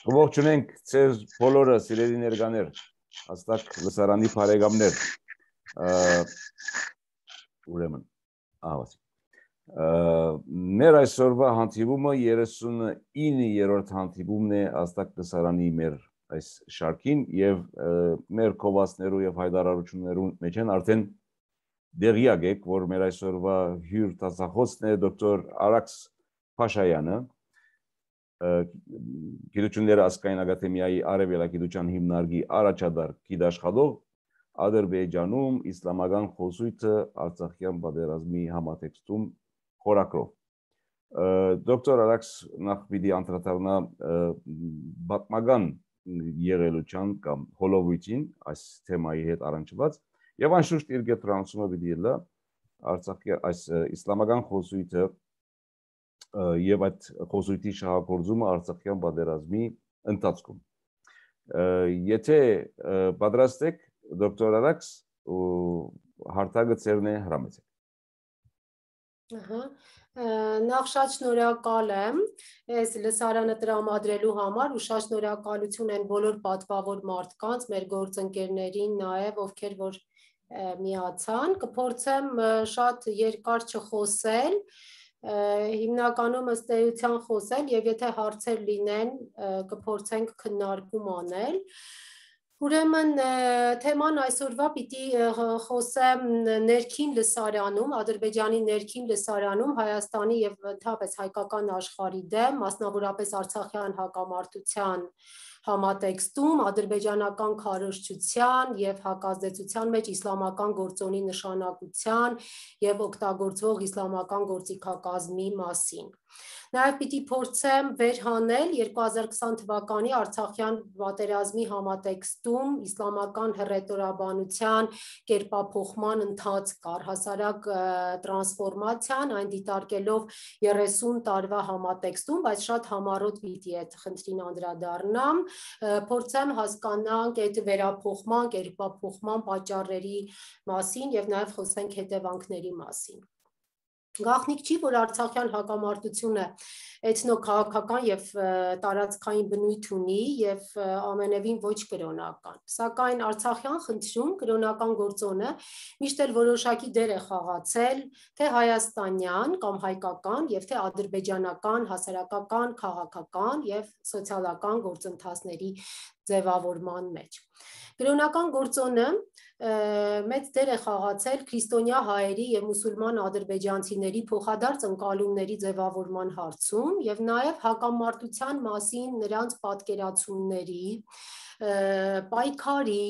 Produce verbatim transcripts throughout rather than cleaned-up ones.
Ողջունենք ձեր բոլորը սիրելի ներկաներ, հաստատ լսարանի բարեկամներ, ուրեմն, ահավաս։ Մեր այսօրվա հանդիպումը երեսունիններորդ հանդիպումն է հաստատ լսարանի մեր այս շարքին եւ մեր կովածներու եւ հայտարարություններու մեջ են արդեն դեղյակ եք, որ մեր այսօրվա հյուր տասախոսն է դոկտոր Արաքս Փաշայանը, Գիտությունների ազգային ակադեմիայի արևելագիտության հիմնարկի առաջադար գիտաշխատող, Ադրբեջանում իսլամական խոզույթը Արցախյան պատերազմի համատեքստում խորագրով։ Դոկտոր Արաքս նախ պիտի անդրադառնա պատմական եղելության կամ հոլովույթին այս թեմայի հետ առնչված եւ անշուշտ իր գետրոնացումը պիտի լա Արցախի այս իսլամական խոզույթը եւ այդ խոզույթի շահագործումը Արցախյան պատերազմի ընթացքում։ Եթե պատրաստ եք, դոկտոր Արաքս, հարթակը ձերն է, հրամեցեք։ Ահա, նախ շատ շնորհակալ եմ այս լսարանը տրամադրելու համար ու շատ շնորհակալություն են բոլոր պատվավոր մարդկանց, մեր գործընկերներին նաև, ովքեր որ միացան, կփորձեմ շատ երկար չխոսել, հիմնականում ըստ էության խոսել եւ եթե հարցեր լինեն կփորձենք քննարկում անել։ Ուրեմն թեման այսօրվա պիտի խոսեմ ներքին լսարանում, Ադրբեջանի ներքին լսարանում Հայաստանի եւ ընդհանրապես հայկական աշխարհի դեմ, մասնավորապես Արցախյան հակամարտության համատեքստում ադրբեջանական քարոզչության եւ հակազդեցության մեջ իսլամական գործոնի նշանակության եւ օգտագործվող իսլամական գործիքակազմի մասին։ Նաև պիտի փորձեմ վերհանել երկու հազար քսան թվականի Արցախյան պատերազմի համատեքստում իսլամական հռետորաբանության կերպափոխման ընթացք առհասարակ տրանսֆորմացիան, այն դիտարկելով երեսուն տարվա համատեքստում, բայց շատ համառոտ պիտի այդ խնդրին անդրադառնամ, փորձեմ հասկանանք այդ վերափոխման, կերպափոխման պատճառների մասին եւ նաեւ խոսենք հետևանքների մասին։ Գաղտնիք չի, որ Արցախյան հակամարտությունը էթնոքաղաքական եւ տարածքային բնույթ ունի եւ ամենևին ոչ կրոնական։ Սակայն Արցախյան խնդրում կրոնական գործոնը միշտ էլ որոշակի դեր է խաղացել թե հայաստանյան կամ հայկական եւ թե ադրբեջանական հասարակական, քաղաքական եւ սոցիալական գործընթացների ձևավորման մեջ։ Կրոնական գործոնը մեծ դեր է խաղացել քրիստոնյա հայերի եւ մուսուլման ադրբեջանցիների փոխադարձ ընկալումների ձևավորման հարցում եւ նաեւ հակամարտության մասին նրանց պատկերացումների, պայքարի,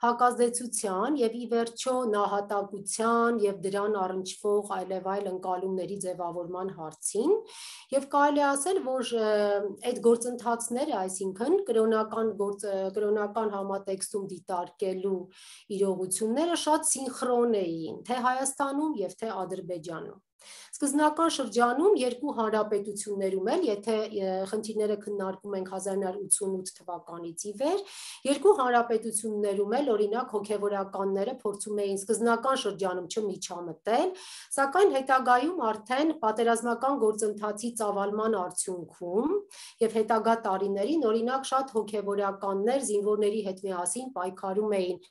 հակազդեցության եւ ի վերջո նահատակության եւ դրան առնչվող այլև այլ ընկալումների ձևավորման հարցին եւ կարելի ասել, որ այդ գործընթացները, այսինքն կրոնական գործ, կրոնական համատեքստում դիտարկելու իրողությունները շատ սինխրոն էին, թե Հայաստանում եւ թե Ադրբեջանում։ Սկզբնական շրջանում երկու հանրապետություններում էլ, եթե խնդիրները քննարկում ենք հազար նոց ութսունութ թվականից ի վեր, երկու հանրապետություններում էլ օրինակ հոգևորականները փորձում էին սկզբնական շրջանում չմիջամտել, սակայն հետագայում արդեն պատերազմական գործընթացի ծավալման արդյունքում եւ հետագա տարիներին օրինակ շատ հոգևորականներ զինվորների հետ միասին պայքարում էին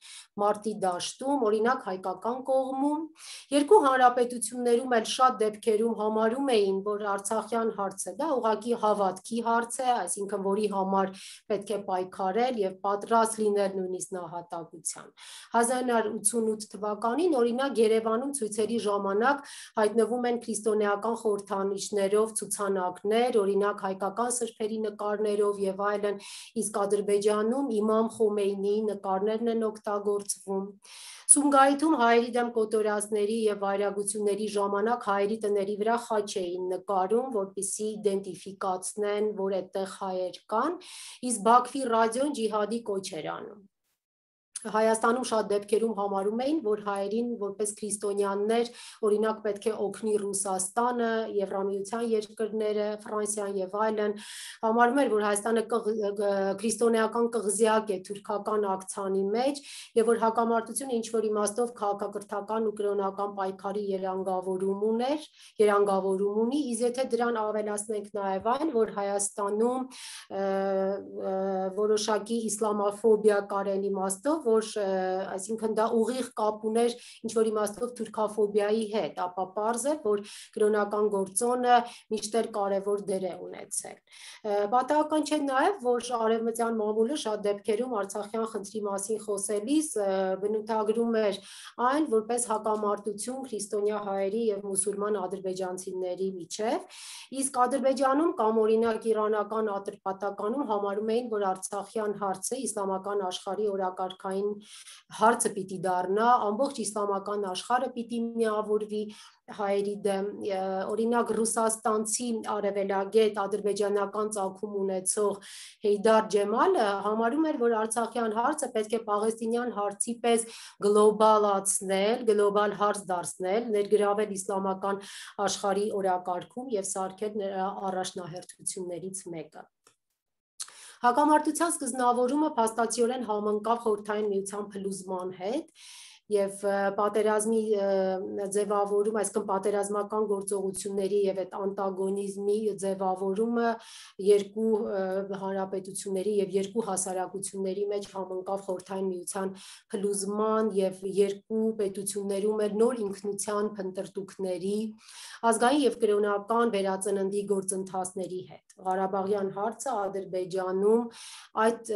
մարտի դաշտում, օրինակ հայկական կողմում, երկու հանրապետություններում էլ շատ դեպքերում համարում էին, որ Արցախյան հարցը դա ուղղակի հավատքի հարց է, այսինքն որի համար պետք է պայքարել եւ պատրաստ լինել նույնիսկ նահատակության։ հազար նոց ութսունութ թվականին օրինակ Երևանում ցույցերի ժամանակ հայտնվում են քրիստոնեական խորհրդանիշներով ցուցանակներ, օրինակ հայկական սրբերի նկարներով եւ այլն, իսկ Ադրբեջանում Իմամ Խոմեյնիի նկարներն են օգտագործվում։ Սումգայիթում հայերի դեմ կոտորածների եւ վայրագությունների ժամանակ հայերի տների վրա խաչ էին նկարում, որպեսզի իդենտիֆիկացնեն, որ այդտեղ հայեր կան, իսկ Բաքվի ռադիոն ջիհադի կոչ էր անում։ Հայաստանում շատ դեպքերում համարում էին, որ հայերին որպես քրիստոնյաներ, օրինակ պետք է օգնի Ռուսաստանը, Եվրամիության երկրները, Ֆրանսիան եւ այլն, համարում էր, որ Հայաստանը քրիստոնեական կղզյակ է թուրքական ակցանի մեջ եւ որ հակամարտությունը ինչ որ իմաստով քաղաքակրթական ու կրոնական պայքարի երանգավորում ուներ, երանգավորում ունի, իսկ եթե դրան ավելացնենք նաեւ այն, որ Հայաստանում որոշակի իսլամաֆոբիա կարեն իմաստով, որ այսինքն դա ուղիղ կապ ուներ ինչ որ իմաստով թուրքաֆոբիայի հետ, ապա պարզ է, որ կրոնական գործոնը միշտեր կարևոր դեր է ունեցել։ Պատահական չէ նաև, որ արևմտյան մամուլը շատ դեպքերում Արցախյան խնդրի մասին խոսելիս բնութագրում էր այն որպես հակամարտություն քրիստոնյա հայերի եւ մուսուլման ադրբեջանցիների միջև, իսկ Ադրբեջանում կամ օրինակ իրանական ատրպատականում համարում էին, որ Արցախյան հարցը իսլամական աշխարհի օրակարգային հարցը պիտի դառնա, ամբողջ իսլամական աշխարհը պիտի միավորվի հայերի դեմ, օրինակ ռուսաստանցի արևելագետ ադրբեջանական ծագում ունեցող Հեյդար Ջեմալը համարում էր, որ Արցախյան հարցը պետք է պաղեստինյան հարցի պես գլոբալացնել, գլոբալ հարց դարձնել, ներգրավել իսլամական աշխարհի օրակարգում եւ սարքել նրա առաջնահերթություններից մեկը։ Հակամարտության սկզբնավորումը փաստացիորեն համընկավ Խորհրդային Միության փլուզման հետ եւ պատերազմի ձևավորում, այսինքն պատերազմական գործողությունների եւ այդ անտագոնիզմի ձևավորումը երկու հանրապետությունների եւ երկու հասարակությունների մեջ համընկավ Խորհրդային Միության փլուզման եւ երկու պետություններում էլ նոր ինքնության փնտրտուքների, ազգային եւ կրոնական վերածննդի գործընթացների հետ։ Ղարաբաղյան հարցը Ադրբեջանում այդ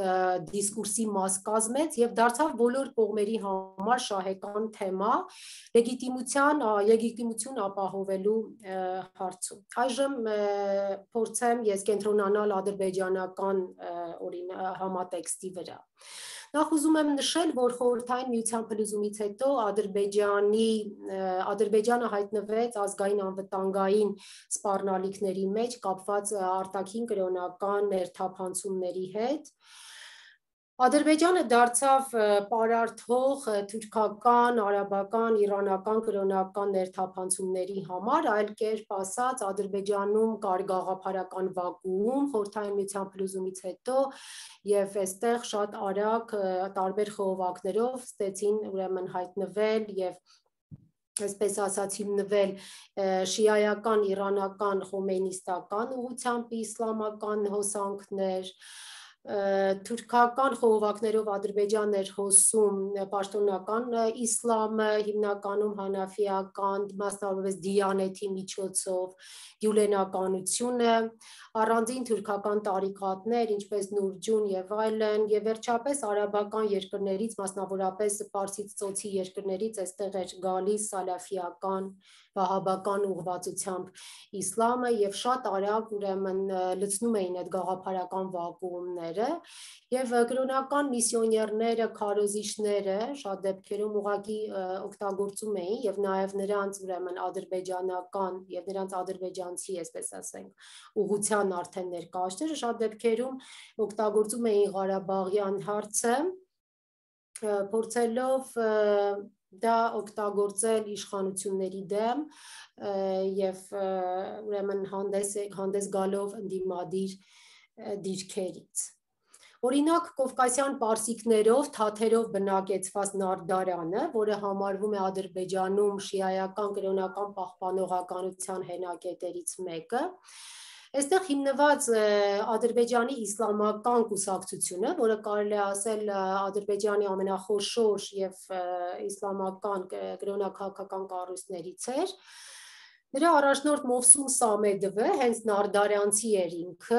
դիսկուրսի մաս կազմեց եւ դարձավ բոլոր կողմերի համար շահեկան թեմա լեգիտիմության, լեգիտիմություն ապահովելու հարցում։ Այժմ փորձեմ ես կենտրոնանալ ադրբեջանական օրինակ համատեքստի վրա։ Նախ ուզում եմ նշել, որ Խորհրդային Միության փլուզումից հետո Ադրբեջանի Ադրբեջանը հայտնվեց ազգային անվտանգային սպառնալիքների մեջ կապված արտաքին կրոնական ներթափանցումների հետ։ Ադրբեջանը դարձավ պարարթող թուրքական, արաբական, իրանական կրոնական ներթափանցումների համար, այլ կերպ ասած Ադրբեջանում կար գաղափարական վակուում Խորհրդային Միության փլուզումից հետո եւ այստեղ շատ արագ տարբեր խողովակներով ստեցին ուրեմն հայտնվել եւ այսպես ասած հիմնվել շիայական, իրանական, խոմեյնիստական ուղղությամբ իսլամական հոսանքներ, թուրքական խողովակներով Ադրբեջանն էր հոսում պաշտոնական իսլամը, հիմնականում հանաֆիական, մասնավորապես դիանեթի միջոցով, գյուլենականությունը, առանձին թուրքական տարիքատներ, ինչպես Նուրջուն եւ այլն, եւ վերջապես արաբական երկրներից, մասնավորապես Պարսից ծոցի երկրներից այստեղ էր գալիս սալաֆիական, վահաբական ուղղվածությամբ իսլամը եւ շատ արագ ուրեմն լցնում էին այդ գաղափարական վակուումները եւ կրոնական միսիոներները, քարոզիչները շատ դեպքերում ուղղակի օգտագործում էին եւ նաեւ նրանց ուրեմն ադրբեջանական եւ նրանց ադրբեջանցի, այսպես ասենք, ուղղության արդեն ներկայացները շատ դեպքերում օգտագործում էին Ղարաբաղյան հարցը, փորձելով դա օգտագործել իշխանությունների դեմ եւ ուրեմն հանդես հանդես գալով ընդդիմադիր դիրքերից։ Օրինակ Կովկասյան պարսիկներով, թաթերով բնակեցված Նարդարանը, որը համարվում է Ադրբեջանում շիայական կրոնական պահպանողականության հենակետերից մեկը, այստեղ հիմնված Ադրբեջանի իսլամական կուսակցությունը, որը կարելի է ասել Ադրբեջանի ամենախոշոր եւ իսլամական կրոնաքաղաքական կառույցներից էր, նրա առաջնորդ Մովսում Սամեդովը հենց նարդարյանցի էր ինքը,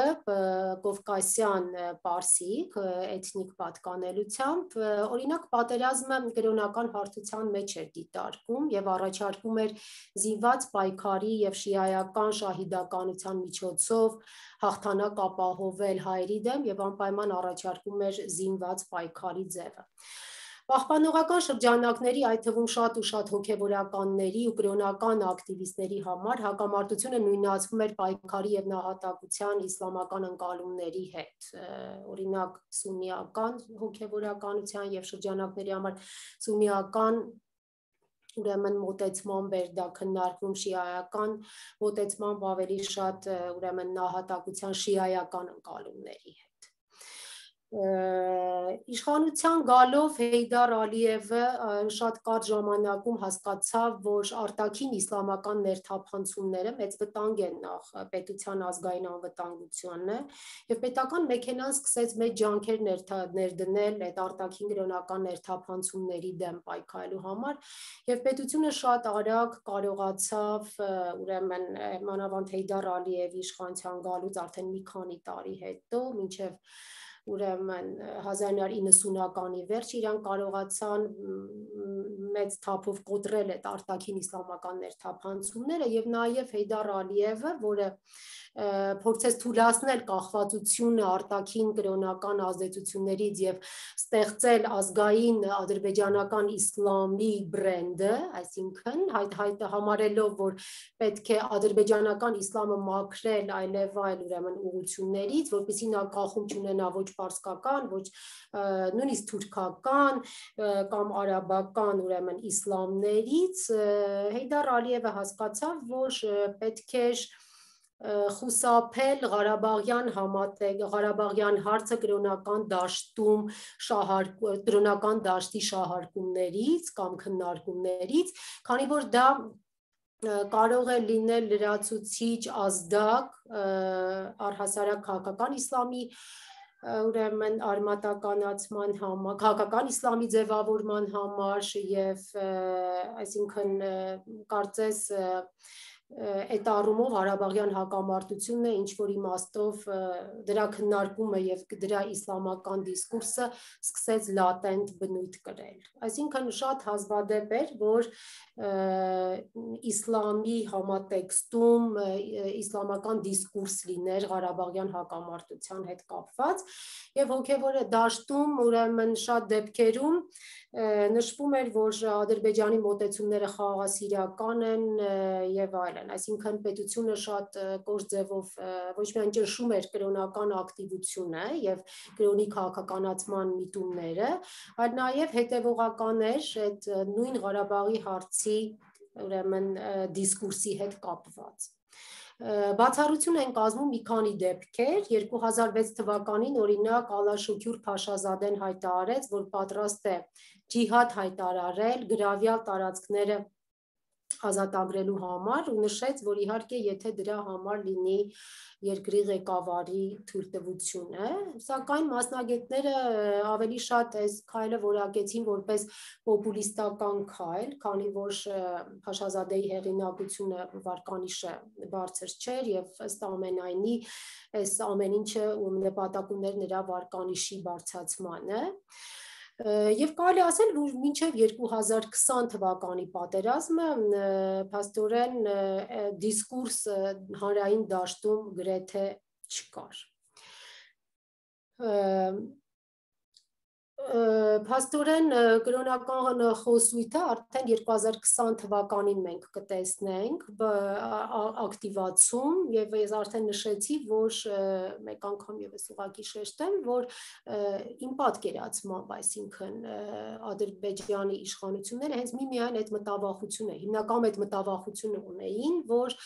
կովկասյան պարսիկ, էթնիկ պատկանելությամբ, օրինակ պատերազմը կրոնական հարթության մեջ էր դիտարկում եւ առաջարկում էր զինված պայքարի եւ շիայական շահիդականության միջոցով հաղթանակ ապահովել հայերի դեմ եւ անպայման առաջարկում էր զինված պայքարի ձևը։ Պահպանողական շրջանակների, այդ թվում շատ ու շատ հոգևորականների ու կրոնական ակտիվիստների համար հակամարտությունը նույնացվում էր պայքարի եւ նահատակության իսլամական ընկալումների հետ։ Օրինակ սուննիական հոգևորականության եւ շրջանակների համար սուննիական ուրեմն մոտեցմամբ էր դա քննարկվում շիայական մոտեցմամբ ավելի շատ ուրեմն նահատակության շիայական ընկալումների հետ։ Իշխանության գալով Հեյդար Ալիևը շատ կարճ ժամանակում հասկացավ, որ արտաքին իսլամական ներթափանցումները մեծ վտանգ են նախ պետության ազգային անվտանգությանը եւ պետական մեքենան սկսեց մեծ ջանքեր ներդնել այդ արտաքին կրոնական ներթափանցումների դեմ պայքարելու համար եւ պետությունը շատ արագ կարողացավ ուրեմն մանավանդ Հեյդար Ալիևի իշխանության գալուց արդեն մի քանի տարի հետո մինչեւ ուրեմն հազար ինը հարյուր իննսունականի վերջ իրան կարողացան մեծ թափով կոտրել այդ արտաքին իսլամական ներթափանցումները եւ նաեւ Հեյդար Ալիևը, որը փորձեց թույլատնել կախվածությունը արտաքին կրոնական ազդեցություններից եւ ստեղծել ազգային ադրբեջանական իսլամի բրենդը, այսինքն հայտ հայտ համարելով, որ պետք է ադրբեջանական իսլամը մաքրել այլև այլ ուրեմն ուղություններից, որպեսզի նա կախում չունենա ոչ պարսկական, ոչ նույնիսկ թուրքական կամ արաբական ուրեմն իսլամներից, Հեյդար Ալիևը հասկացավ, որ պետք է խուսափել Ղարաբաղյան համատեղ Ղարաբաղյան հարցը կրոնական դաշտում շահարկ կրոնական դաշտի շահարկումներից կամ քննարկումներից, քանի որ դա կարող է լինել լրացուցիչ ազդակ առհասարակ քաղաքական իսլամի ուրեմն արմատականացման համար, քաղաքական իսլամի ձևավորման համար եւ այսինքն կարծես այդ առումով Ղարաբաղյան հակամարտությունն է ինչ որ իմաստով դրա քննարկումը եւ դրա իսլամական դիսկուրսը սկսեց լատենտ բնույթ կրել։ Այսինքն շատ հազվադեպ էր, որ իսլամի համատեքստում իսլամական դիսկուրս լիներ Ղարաբաղյան հակամարտության հետ կապված եւ հոգեվոր դաշտում ուրեմն շատ դեպքերում նշվում էր, որ Ադրբեջանի մոտեցումները խաղաղասիրական են եւ այլն, այսինքն պետությունը շատ կոշտ ձևով ոչ միայն ճնշում էր կրոնական ակտիվությունը եւ կրոնի քաղաքականացման միտումները, այլ նաեւ հետեւողական էր այդ նույն Ղարաբաղի հարցի ուրեմն դիսկուրսի հետ կապված։ Բացառություն են կազմում մի քանի դեպքեր, երկու հազար վեց թվականին օրինակ Ալաշուքյուր Փաշազադեն հայտարարեց, որ պատրաստ է ջիհադ հայտարարել գրավյալ տարածքները ազատագրելու համար ու նշեց, որ իհարկե եթե դրա համար լինի երկրի ղեկավարի թույլտվությունը, սակայն մասնագետները ավելի շատ այս քայլը որակեցին որպես պոպուլիստական քայլ, քանի որ Փաշազադեի հեղինակությունը վարկանիշը բարձր չէր եւ ըստ ամենայնի այս ամեն ինչը նպատակ ուներ նրա վարկանիշի բարձրացմանը։ Եվ կարելի ասել, որ մինչև երկու հազար քսան թվականի պատերազմը փաստորեն դիսկուրս հանրային դաշտում գրեթե չկար։ Փաստորեն կրոնական խոսույթը արդեն երկու հազար քսան թվականին մենք կտեսնենք ակտիվացում եւ ես արդեն նշեցի, որ մեկ անգամ եւս ուղղակի շեշտեմ, որ իմ պատկերացմամբ, այսինքն Ադրբեջանի իշխանությունները հենց միմիայն այդ մտավախությունը, հիմնական այդ մտավախությունը ունեին, որ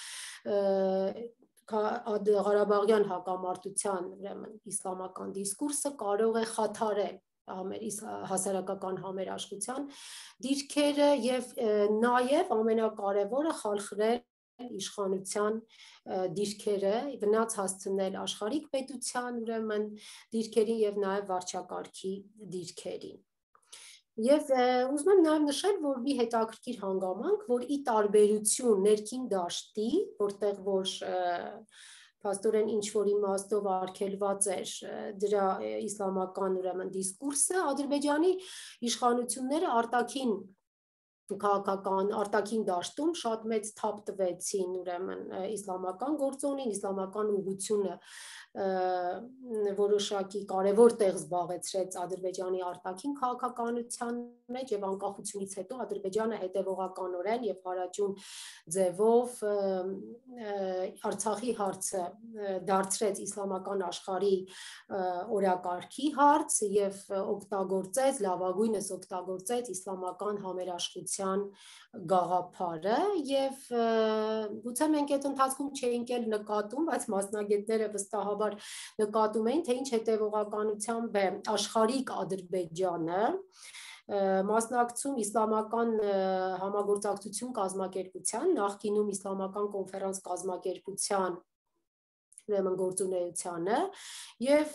Ղարաբաղյան հակամարտության ուրեմն իսլամական դիսկուրսը կարող է խաթարել հասարակական համերաշխության դիրքերը եւ նաեւ ամենակարևորը խալխրել իշխանության դիրքերը, վնաս հասցնել աշխարհիկ պետության ուրեմն դիրքերին եւ նաեւ վարչակարգի դիրքերին։ Եվ ուզում եմ նաև նշել, որ մի հետաքրքիր հանգամանք, որ ի տարբերություն ներքին դաշտի, որտեղ որ փաստորեն ինչ որ իմաստով արգելված էր դրա իսլամական ուրեմն դիսկուրսը, Ադրբեջանի իշխանությունները արտաքին քաղաքական արտաքին դաշտում շատ մեծ թափ տվեցին ուրեմն իսլամական գործոնին, իսլամական ուղղությունը որոշակի կարևոր տեղ զբաղեցրեց Ադրբեջանի արտաքին քաղաքականության մեջ եւ անկախությունից հետո Ադրբեջանը հետեւողականորեն եւ հարաճուն ձևով Արցախի հարցը դարձրեց իսլամական աշխարհի օրակարգի հարց եւ օգտագործեց, լավագույնս օգտագործեց իսլամական համերաշխության գաղափարը եւ գուցե մենք այդ ընթացքում չէինք էլ նկատում, բայց մասնագետները վստահաբար նկատում էին, թե ինչ հետևողականությամբ է աշխարհիկ Ադրբեջանը մասնակցում իսլամական համագործակցություն կազմակերպության, նախկինում իսլամական կոնֆերանս կազմակերպության ուրեմն գործունեությանը եւ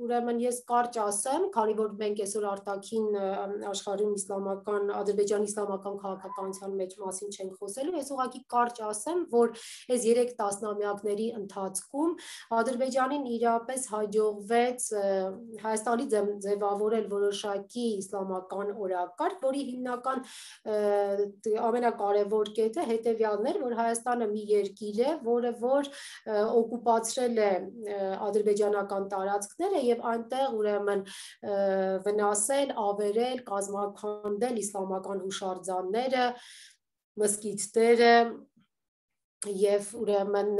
ուրեմն ես կարճ ասեմ, քանի որ մենք այսօր արտաքին աշխարհում իսլամական Ադրբեջանի իսլամական քաղաքականության մեջ մասին չենք խոսելու, ես ուղղակի կարճ ասեմ, որ այս երեք տասնամյակների ընթացքում Ադրբեջանին իրապես հաջողվեց Հայաստանի ձևավորել որոշակի իսլամական օրակարգ, որի հիմնական ամենակարևոր կետը հետեւյալն էր, որ Հայաստանը մի երկիր է, որը որ օկուպացրել է ադրբեջանական տարածքները եւ այնտեղ ուրեմն վնասել, ավերել, կազմաքանդել իսլամական հուշարձանները, մզկիթները եւ ուրեմն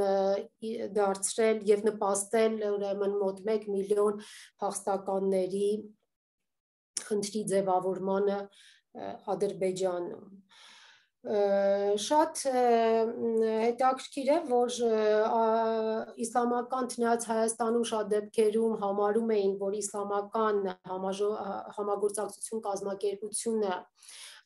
դարձրել եւ նպաստել ուրեմն մոտ մեկ միլիոն փախստականների խնդրի ձևավորմանը Ադրբեջանում Շատ հետաքրքիր է, որ իսլամական չնայած Հայաստանում շատ դեպքերում համարում էին, որ իսլամական համագործակցություն կազմակերպությունը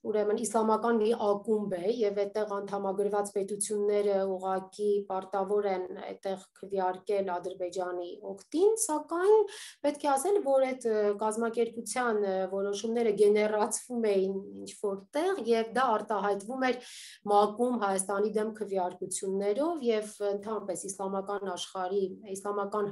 ուրեմն իսլամական մի ակումբ է եւ այդտեղ անդամագրված պետությունները ուղղակի պարտավոր են այդտեղ քվեարկել Ադրբեջանի օգտին, սակայն պետք է ասել, որ այդ կազմակերպության որոշումները գեներացվում էին ինչ-որտեղ եւ դա արտահայտվում էր ՄԱԿ-ում Հայաստանի դեմ քվեարկություններով եւ ընդհանրապես իսլամական աշխարհի իսլամական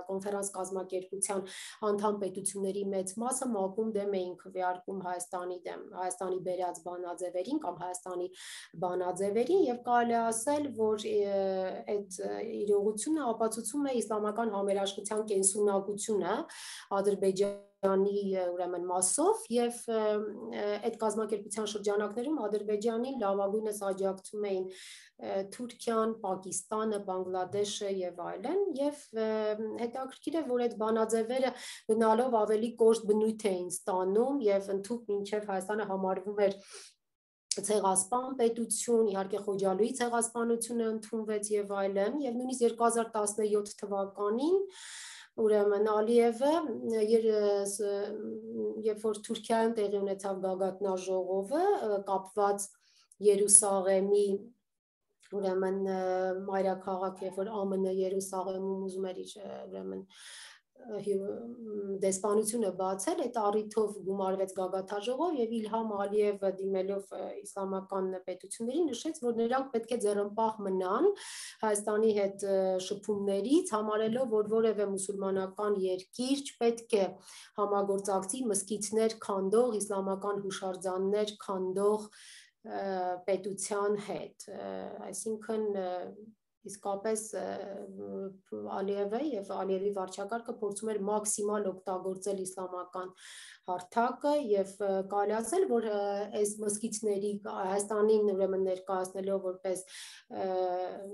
կոնֆերանս կազմակերպության անդամ պետությունների մեծ մասը ՄԱԿ-ում դեմ էին քվեարկում Հայաստանի դեմ, Հայաստանի բերած բանաձևերին կամ Հայաստանի բանաձևերին եւ կարելի ասել, որ այդ իրողությունը ապացուցում է իսլամական համերաշխության կենսունակությունը Ադրբեջանի ուրեմն մասով եւ այդ կազմակերպության շրջանակներում Ադրբեջանին լավագույնս աջակցում էին Թուրքիան, Պակիստանը, Բանգլադեշը եւ այլն եւ հետաքրքիր է, որ այդ բանաձևերը գնալով ավելի կոշտ բնույթ էին ստանում եւ ընդհանուր մինչեւ Հայաստանը համարվում էր ցեղասպան պետություն, իհարկե Խոջալույի ցեղասպանությունը ընդունվեց եւ այլն եւ նույնիսկ երկու հազար տասնյոթ թվականին ուրեմն Ալիևը երբ որ Թուրքիայում տեղի ունեցավ գագաթնաժողովը կապված Երուսաղեմի ուրեմն մայրաքաղաք, երբ որ ԱՄՆ Երուսաղեմում ուզում էր իր ուրեմն դեսպանությունը բացել, այդ առիթով գումարվեց գագաթնաժողով եւ Իլհամ Ալիևը դիմելով իսլամական պետություններին նշեց, որ նրանք պետք է ձեռնպահ մնան Հայաստանի հետ շփումներից, համարելով, որ որևէ մուսուլմանական երկիր չպետք է համագործակցի մզկիթներ քանդող, իսլամական հուշարձաններ քանդող պետության հետ, այսինքն իսկապես Ալիևը եւ Ալիևի վարչակարգը փորձում էր մաքսիմալ օգտագործել իսլամական հարթակը եւ կարելի ասել, որ այս մզկիթների Հայաստանին ուրեմն ներկայացնելով որպես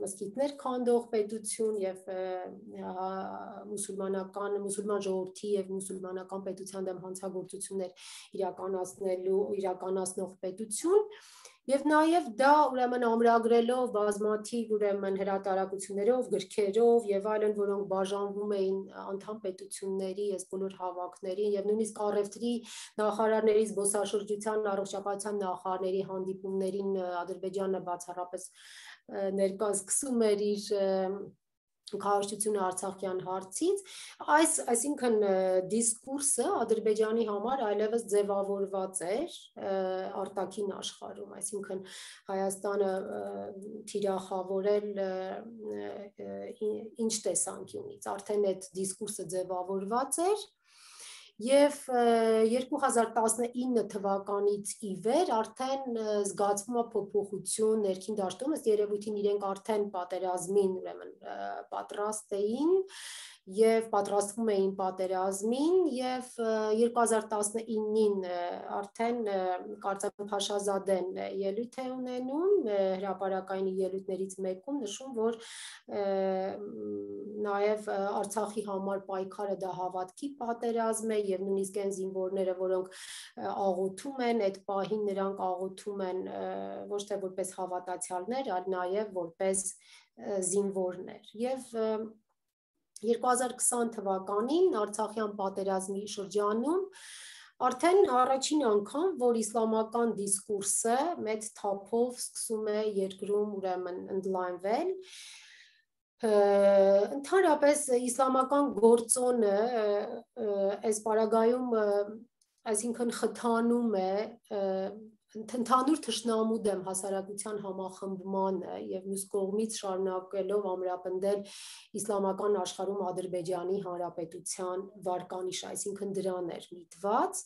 մզկիթներ քանդող պետություն եւ մուսուլմանական մուսուլման ժողովրդի եւ մուսուլմանական պետության դեմ հանցագործություններ իրականացնելու իրականացնող պետություն Եվ նաև դա ուրեմն ամրագրելով բազմաթիվ ուրեմն հրատարակություններով, գրքերով եւ այլն, որոնք բաժանվում էին անդամ պետությունների, այս բոլոր հավաքներին եւ նույնիսկ առևտրի նախարարների, զբոսաշրջության, առողջապահության նախարարների հանդիպումներին Ադրբեջանը բացառապես ներկա սկսում էր իր քարոշչությունը Արցախյան հարցից, այս, այսինքն դիսկուրսը Ադրբեջանի համար այլևս ձևավորված էր արտաքին աշխարհում, այսինքն Հայաստանը թիրախավորել ինչ տեսանկյունից, արդեն այդ դիսկուրսը ձևավորված էր Եվ երկու հազար տասնինը թվականից ի վեր արդեն զգացվում է փոփոխություն ներքին դաշտում, ըստ երևույթին իրենք արդեն պատերազմին ուրեմն պատրաստ էին եւ պատրաստվում էին պատերազմին եւ երկու հազար տասնինին արդեն կարծեմ Փաշազադեն ելույթ է ունենում հրապարակային ելույթներից մեկում նշում որ նաեւ Արցախի համար պայքարը դա հավատքի պատերազմ է եւ նույնիսկ այն զինվորները որոնք աղոթում են այդ պահին նրանք աղոթում են ոչ թե որպես հավատացյալներ այլ նաեւ որպես զինվորներ եւ երկու հազար քսան թվականին Արցախյան պատերազմի շրջանում արդեն առաջին անգամ, որ իսլամական դիսկուրսը մեծ թափով սկսում է երկրում ուրեմն ընդլայնվել, ընդհանրապես իսլամական գործոնը այս պարագայում, այսինքն խթանում է ընդհանուր թշնամու դեմ հասարակության համախմբմանը եւ մյուս կողմից շարունակելով ամրապնդել իսլամական աշխարհում Ադրբեջանի Հանրապետության վարկանիշը, այսինքն դրան էր միտված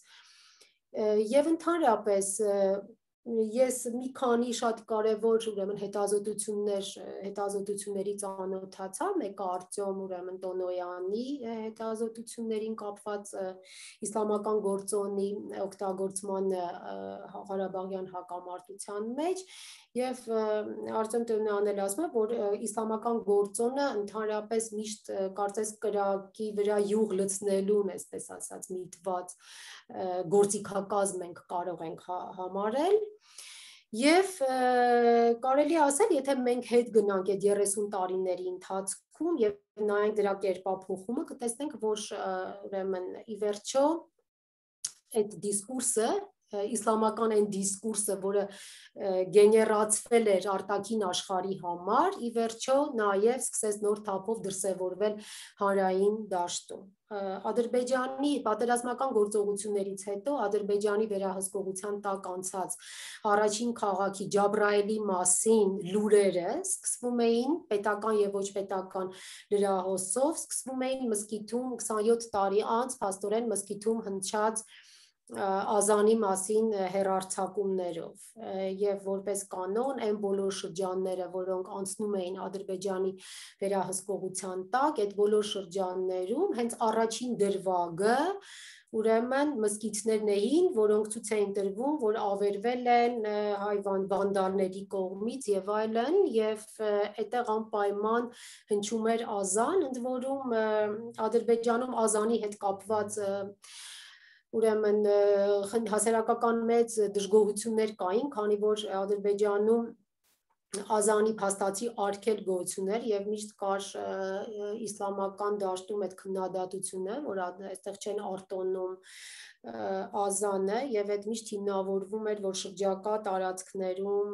եւ ընդհանրապես ես մի քանի շատ կարևոր ուրեմն հետազոտություններ հետազոտությունների ծանոթացա, մեկը Արտյոմ ուրեմն Տոնոյանի հետազոտություններին կապված իսլամական գործոնի օգտագործման Ղարաբաղյան հակամարտության մեջ եւ Արտյոմ Տոնոյանն էլ ասում է, որ իսլամական գործոնը ընդհանրապես միշտ կարծես կրակի վրա յուղ լցնելուն, այսպես ասած, միտված գործիքակազմ ենք կարող ենք համարել եւ կարելի ասել, եթե մենք հետ գնանք այդ երեսուն տարիների ընթացքում եւ նայենք դրա կերպափոխումը, կտեսնենք, որ ուրեմն ի վերջո այդ դիսկուրսը իսլամական այն դիսկուրսը, որը գեներացվել էր արտաքին աշխարհի համար, ի վերջո նաև սկսեց նոր թափով դրսևորվել հանրային դաշտում։ Ադրբեջանի պատերազմական գործողություններից հետո Ադրբեջանի վերահսկողության տակ անցած առաջին քաղաքի Ջաբրայելի մասին լուրերը սկսվում էին պետական եւ ոչ պետական լրահոսով, սկսվում էին մզկիթում քսանյոթ տարի անց փաստորեն մզկիթում հնչած ազանի մասին հեռարձակումներով եւ որպես կանոն այն բոլոր շրջանները, որոնք անցնում էին Ադրբեջանի վերահսկողության տակ, այդ բոլոր շրջաններում հենց առաջին դրվագը ուրեմն մզկիթներն էին, որոնք ցույց էին տրվում, որ ավերվել են հայվան վանդալների կողմից եւ այլն եւ այդտեղ անպայման հնչում էր ազան, ընդ որում Ադրբեջանում ազանի հետ կապված ուրեմն հասարակական մեծ դժգոհություններ կային, քանի որ Ադրբեջանում ազանի փաստացի արգել գոյություններ եւ միշտ կար իսլամական դաշտում այդ քննադատությունը, որ այստեղ չեն արտոնում ազանը եւ այդ միշտ հիմնավորվում էր, որ շրջակա տարածքներում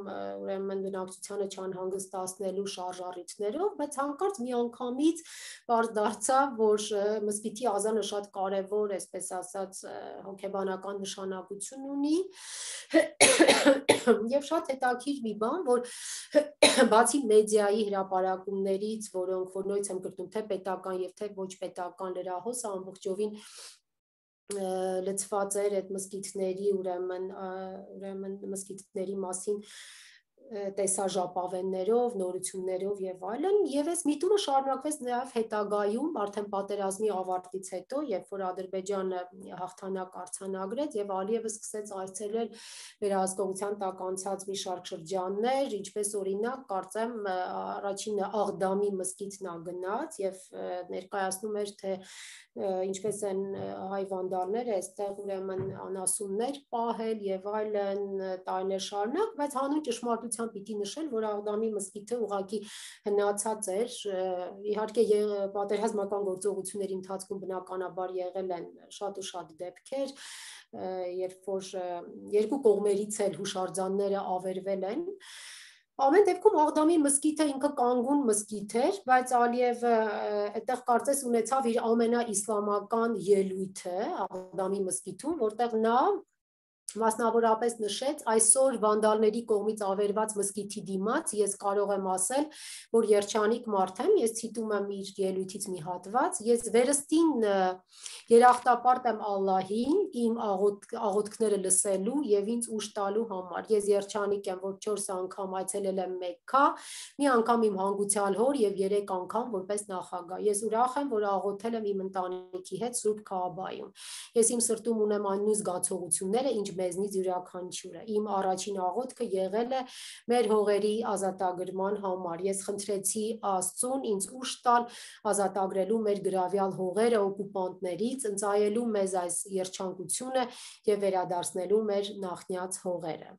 ուրեմն բնակչությանը չանհանգստացնելու շարժառիթներով, բայց հանկարծ մի անգամից բարձ դարձավ, որ մզկիթի ազանը շատ կարևոր, այսպես ասած, հոգեբանական նշանակություն ունի եւ շատ հետաքրքիր մի բան, որ բացի մեդիայի հրապարակումներից, որոնք որ նույնիսկ եմ կրտում թե պետական եւ թե ոչ պետական լրահոսը ամբողջովին լծված էր այդ մզկիթների ուրեմն ուրեմն մզկիթների մասին տեսաժապավեններով, նորություններով եւ այլն, եւ այս միտումը շարունակվեց նաեւ հետագայում, արդեն պատերազմի ավարտից հետո, երբ որ Ադրբեջանը հաղթանակ արձանագրեց եւ Ալիևը սկսեց այցելել վերահսկողության տակ անցած մի շարք շրջաններ, ինչպես օրինակ, կարծեմ, առաջինը Աղդամի մզկիթն ա գնաց եւ ներկայացնում էր, թե ինչպես են հայ վանդալները այստեղ ուրեմն անասուններ պահել եւ այլն տարիներ շարունակ, բայց հանուն ճշմարտության պիտի նշել, որ Աղդամի մզկիթը ուղղակի հնացած էր, իհարկե պատերազմական գործողությունների ընթացքում բնականաբար եղել են շատ ու շատ դեպքեր, երբ որ երկու կողմերից էլ հուշարձանները ավերվել են, ամեն դեպքում Աղդամի մզկիթը ինքը կանգուն մզկիթ էր, բայց Ալիևը այդտեղ կարծես ունեցավ իր ամենաիսլամական ելույթը Աղդամի մզկիթում, որտեղ նա Մասնավորապես նշեց այսօր վանդալների կողմից ավերված մզկիթի դիմաց ես կարող եմ ասել, որ երջանիկ մարդ եմ, ես ցիտում եմ իր ելույթից մի հատված, ես վերստին երախտապարտ եմ Ալլահին, իմ աղոթքները լսելու եւ ինձ ուժ տալու համար։ Ես երջանիկ եմ, որ չորս անգամ այցելել եմ Մեքքա, մի անգամ իմ հանգուցյալ հոր եւ երեք անգամ որպես նախագահ։ Ես ուրախ եմ, որ աղոթել եմ իմ ընտանիքի հետ Սուրբ Քաաբայում։ Ես իմ սրտում ունեմ այն նույն զգացողությունները, ինչ մեզնից յուրաքանչյուրը։ Իմ առաջին աղոթքը եղել է մեր հողերի ազատագրման համար։ Ես խնդրեցի Աստծուն ինձ ուժ տալ ազատագրելու մեր գրավյալ հողերը օկուպանտներից, ընծայելու մեզ այս երջանկությունը եւ վերադարձնելու մեր նախնյաց հողերը։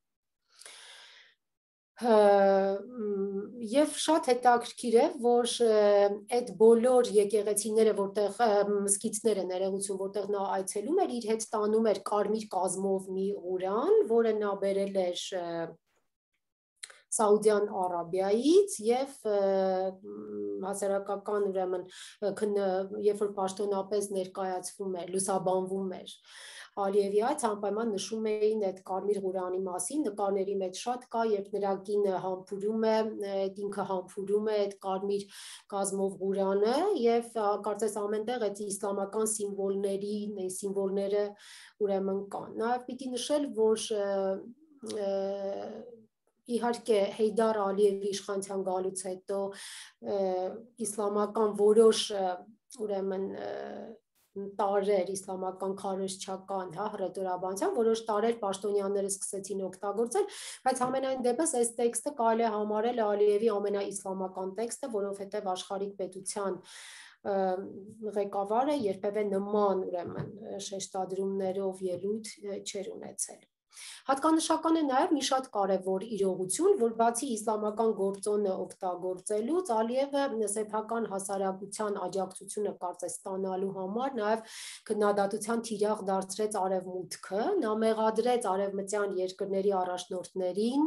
Եվ շատ հետաքրքիր է, որ այդ բոլոր եկեղեցիները, որտեղ մզկիթները ներողություն, որտեղ նա այցելում էր, իր հետ տանում էր կարմիր կազմով մի Ղուրան, որը նա բերել էր Սաուդյան Արաբիայից եւ հասարակական ուրեմն երբ որ պաշտոնապես ներկայացվում էր, լուսաբանվում էր Ալիևի այդ անպայման նշում էին այդ կարմիր Ղուրանի մասին, նկարների մեջ շատ կա, երբ նրա կինը համբուրում է, այդ ինքը համբուրում է այդ կարմիր կազմով Ղուրանը եւ կարծես ամենտեղ այդ իսլամական սիմվոլների, սիմվոլները ուրեմն կան։ Նաեւ պիտի նշել, որ իհարկե Հեյդար Ալիևի իշխանության գալուց հետո իսլամական որոշ ուրեմն տարեր իսլամական քարոզչական, հա, հռետորաբանության, որոշ տարեր պաշտոնյաները սկսեցին օգտագործել, բայց ամենայն դեպս այս տեքստը կարելի է համարել Ալիևի ամենաիսլամական տեքստը, որովհետև աշխարհիկ պետության ղեկավարը երբևէ նման ուրեմն շեշտադրումներով ելույթ չէր ունեցել։ Հատկանշական է նաև մի շատ կարևոր իրողություն, որ բացի իսլամական գործոնը օգտագործելուց Ալիևը սեփական հասարակության աջակցությունը կարծես ստանալու համար նաև քննադատության թիրախ դարձրեց Արևմուտքը, նա մեղադրեց արևմտյան երկրների առաջնորդներին,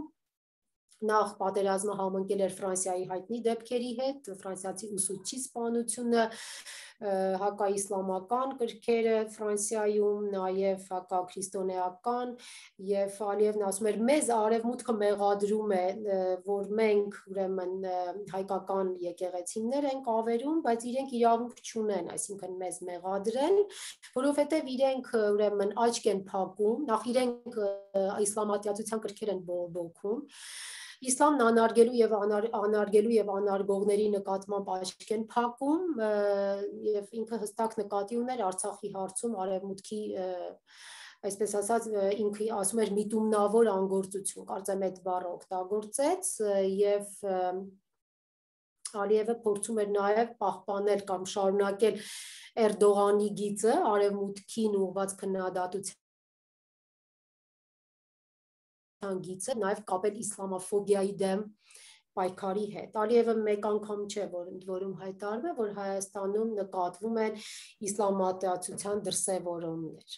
նախ պատերազմը համընկել էր Ֆրանսիայի հայտնի դեպքերի հետ, ֆրանսիացի ուսուցչի սպանությունը, հակաիսլամական կրքերը Ֆրանսիայում, նաև հակաքրիստոնեական եւ Ալիևն ասում էր մեզ արևմուտքը մեղադրում է, որ մենք ուրեմն հայկական եկեղեցիներ ենք ավերում, բայց իրենք իրավունք չունեն, այսինքն մեզ մեղադրեն, որովհետեւ իրենք ուրեմն աչք են փակում, նախ իրենք իսլամատյացության կրքեր են բողոքում, Իսլամն անարգելու եւ անարգելու եւ անարգողների նկատմամբ աչք են փակում եւ ինքը հստակ նկատի ուներ Արցախի հարցում արևմուտքի այսպես ասած ինքը ասում էր միտումնավոր անգործություն, կարծեմ այդ բառը օգտագործեց եւ Ալիևը փորձում էր նաեւ պահպանել կամ շարունակել Էրդողանի գիծը արևմուտքին ուղղված քննադատության գիծը նաև կապել իսլամաֆոբիայի դեմ պայքարի հետ։ Ալիևը մեկ անգամ չէ, որ ընդ որում հայտարարվել, որ Հայաստանում նկատվում են իսլամատյացության դրսևորումներ։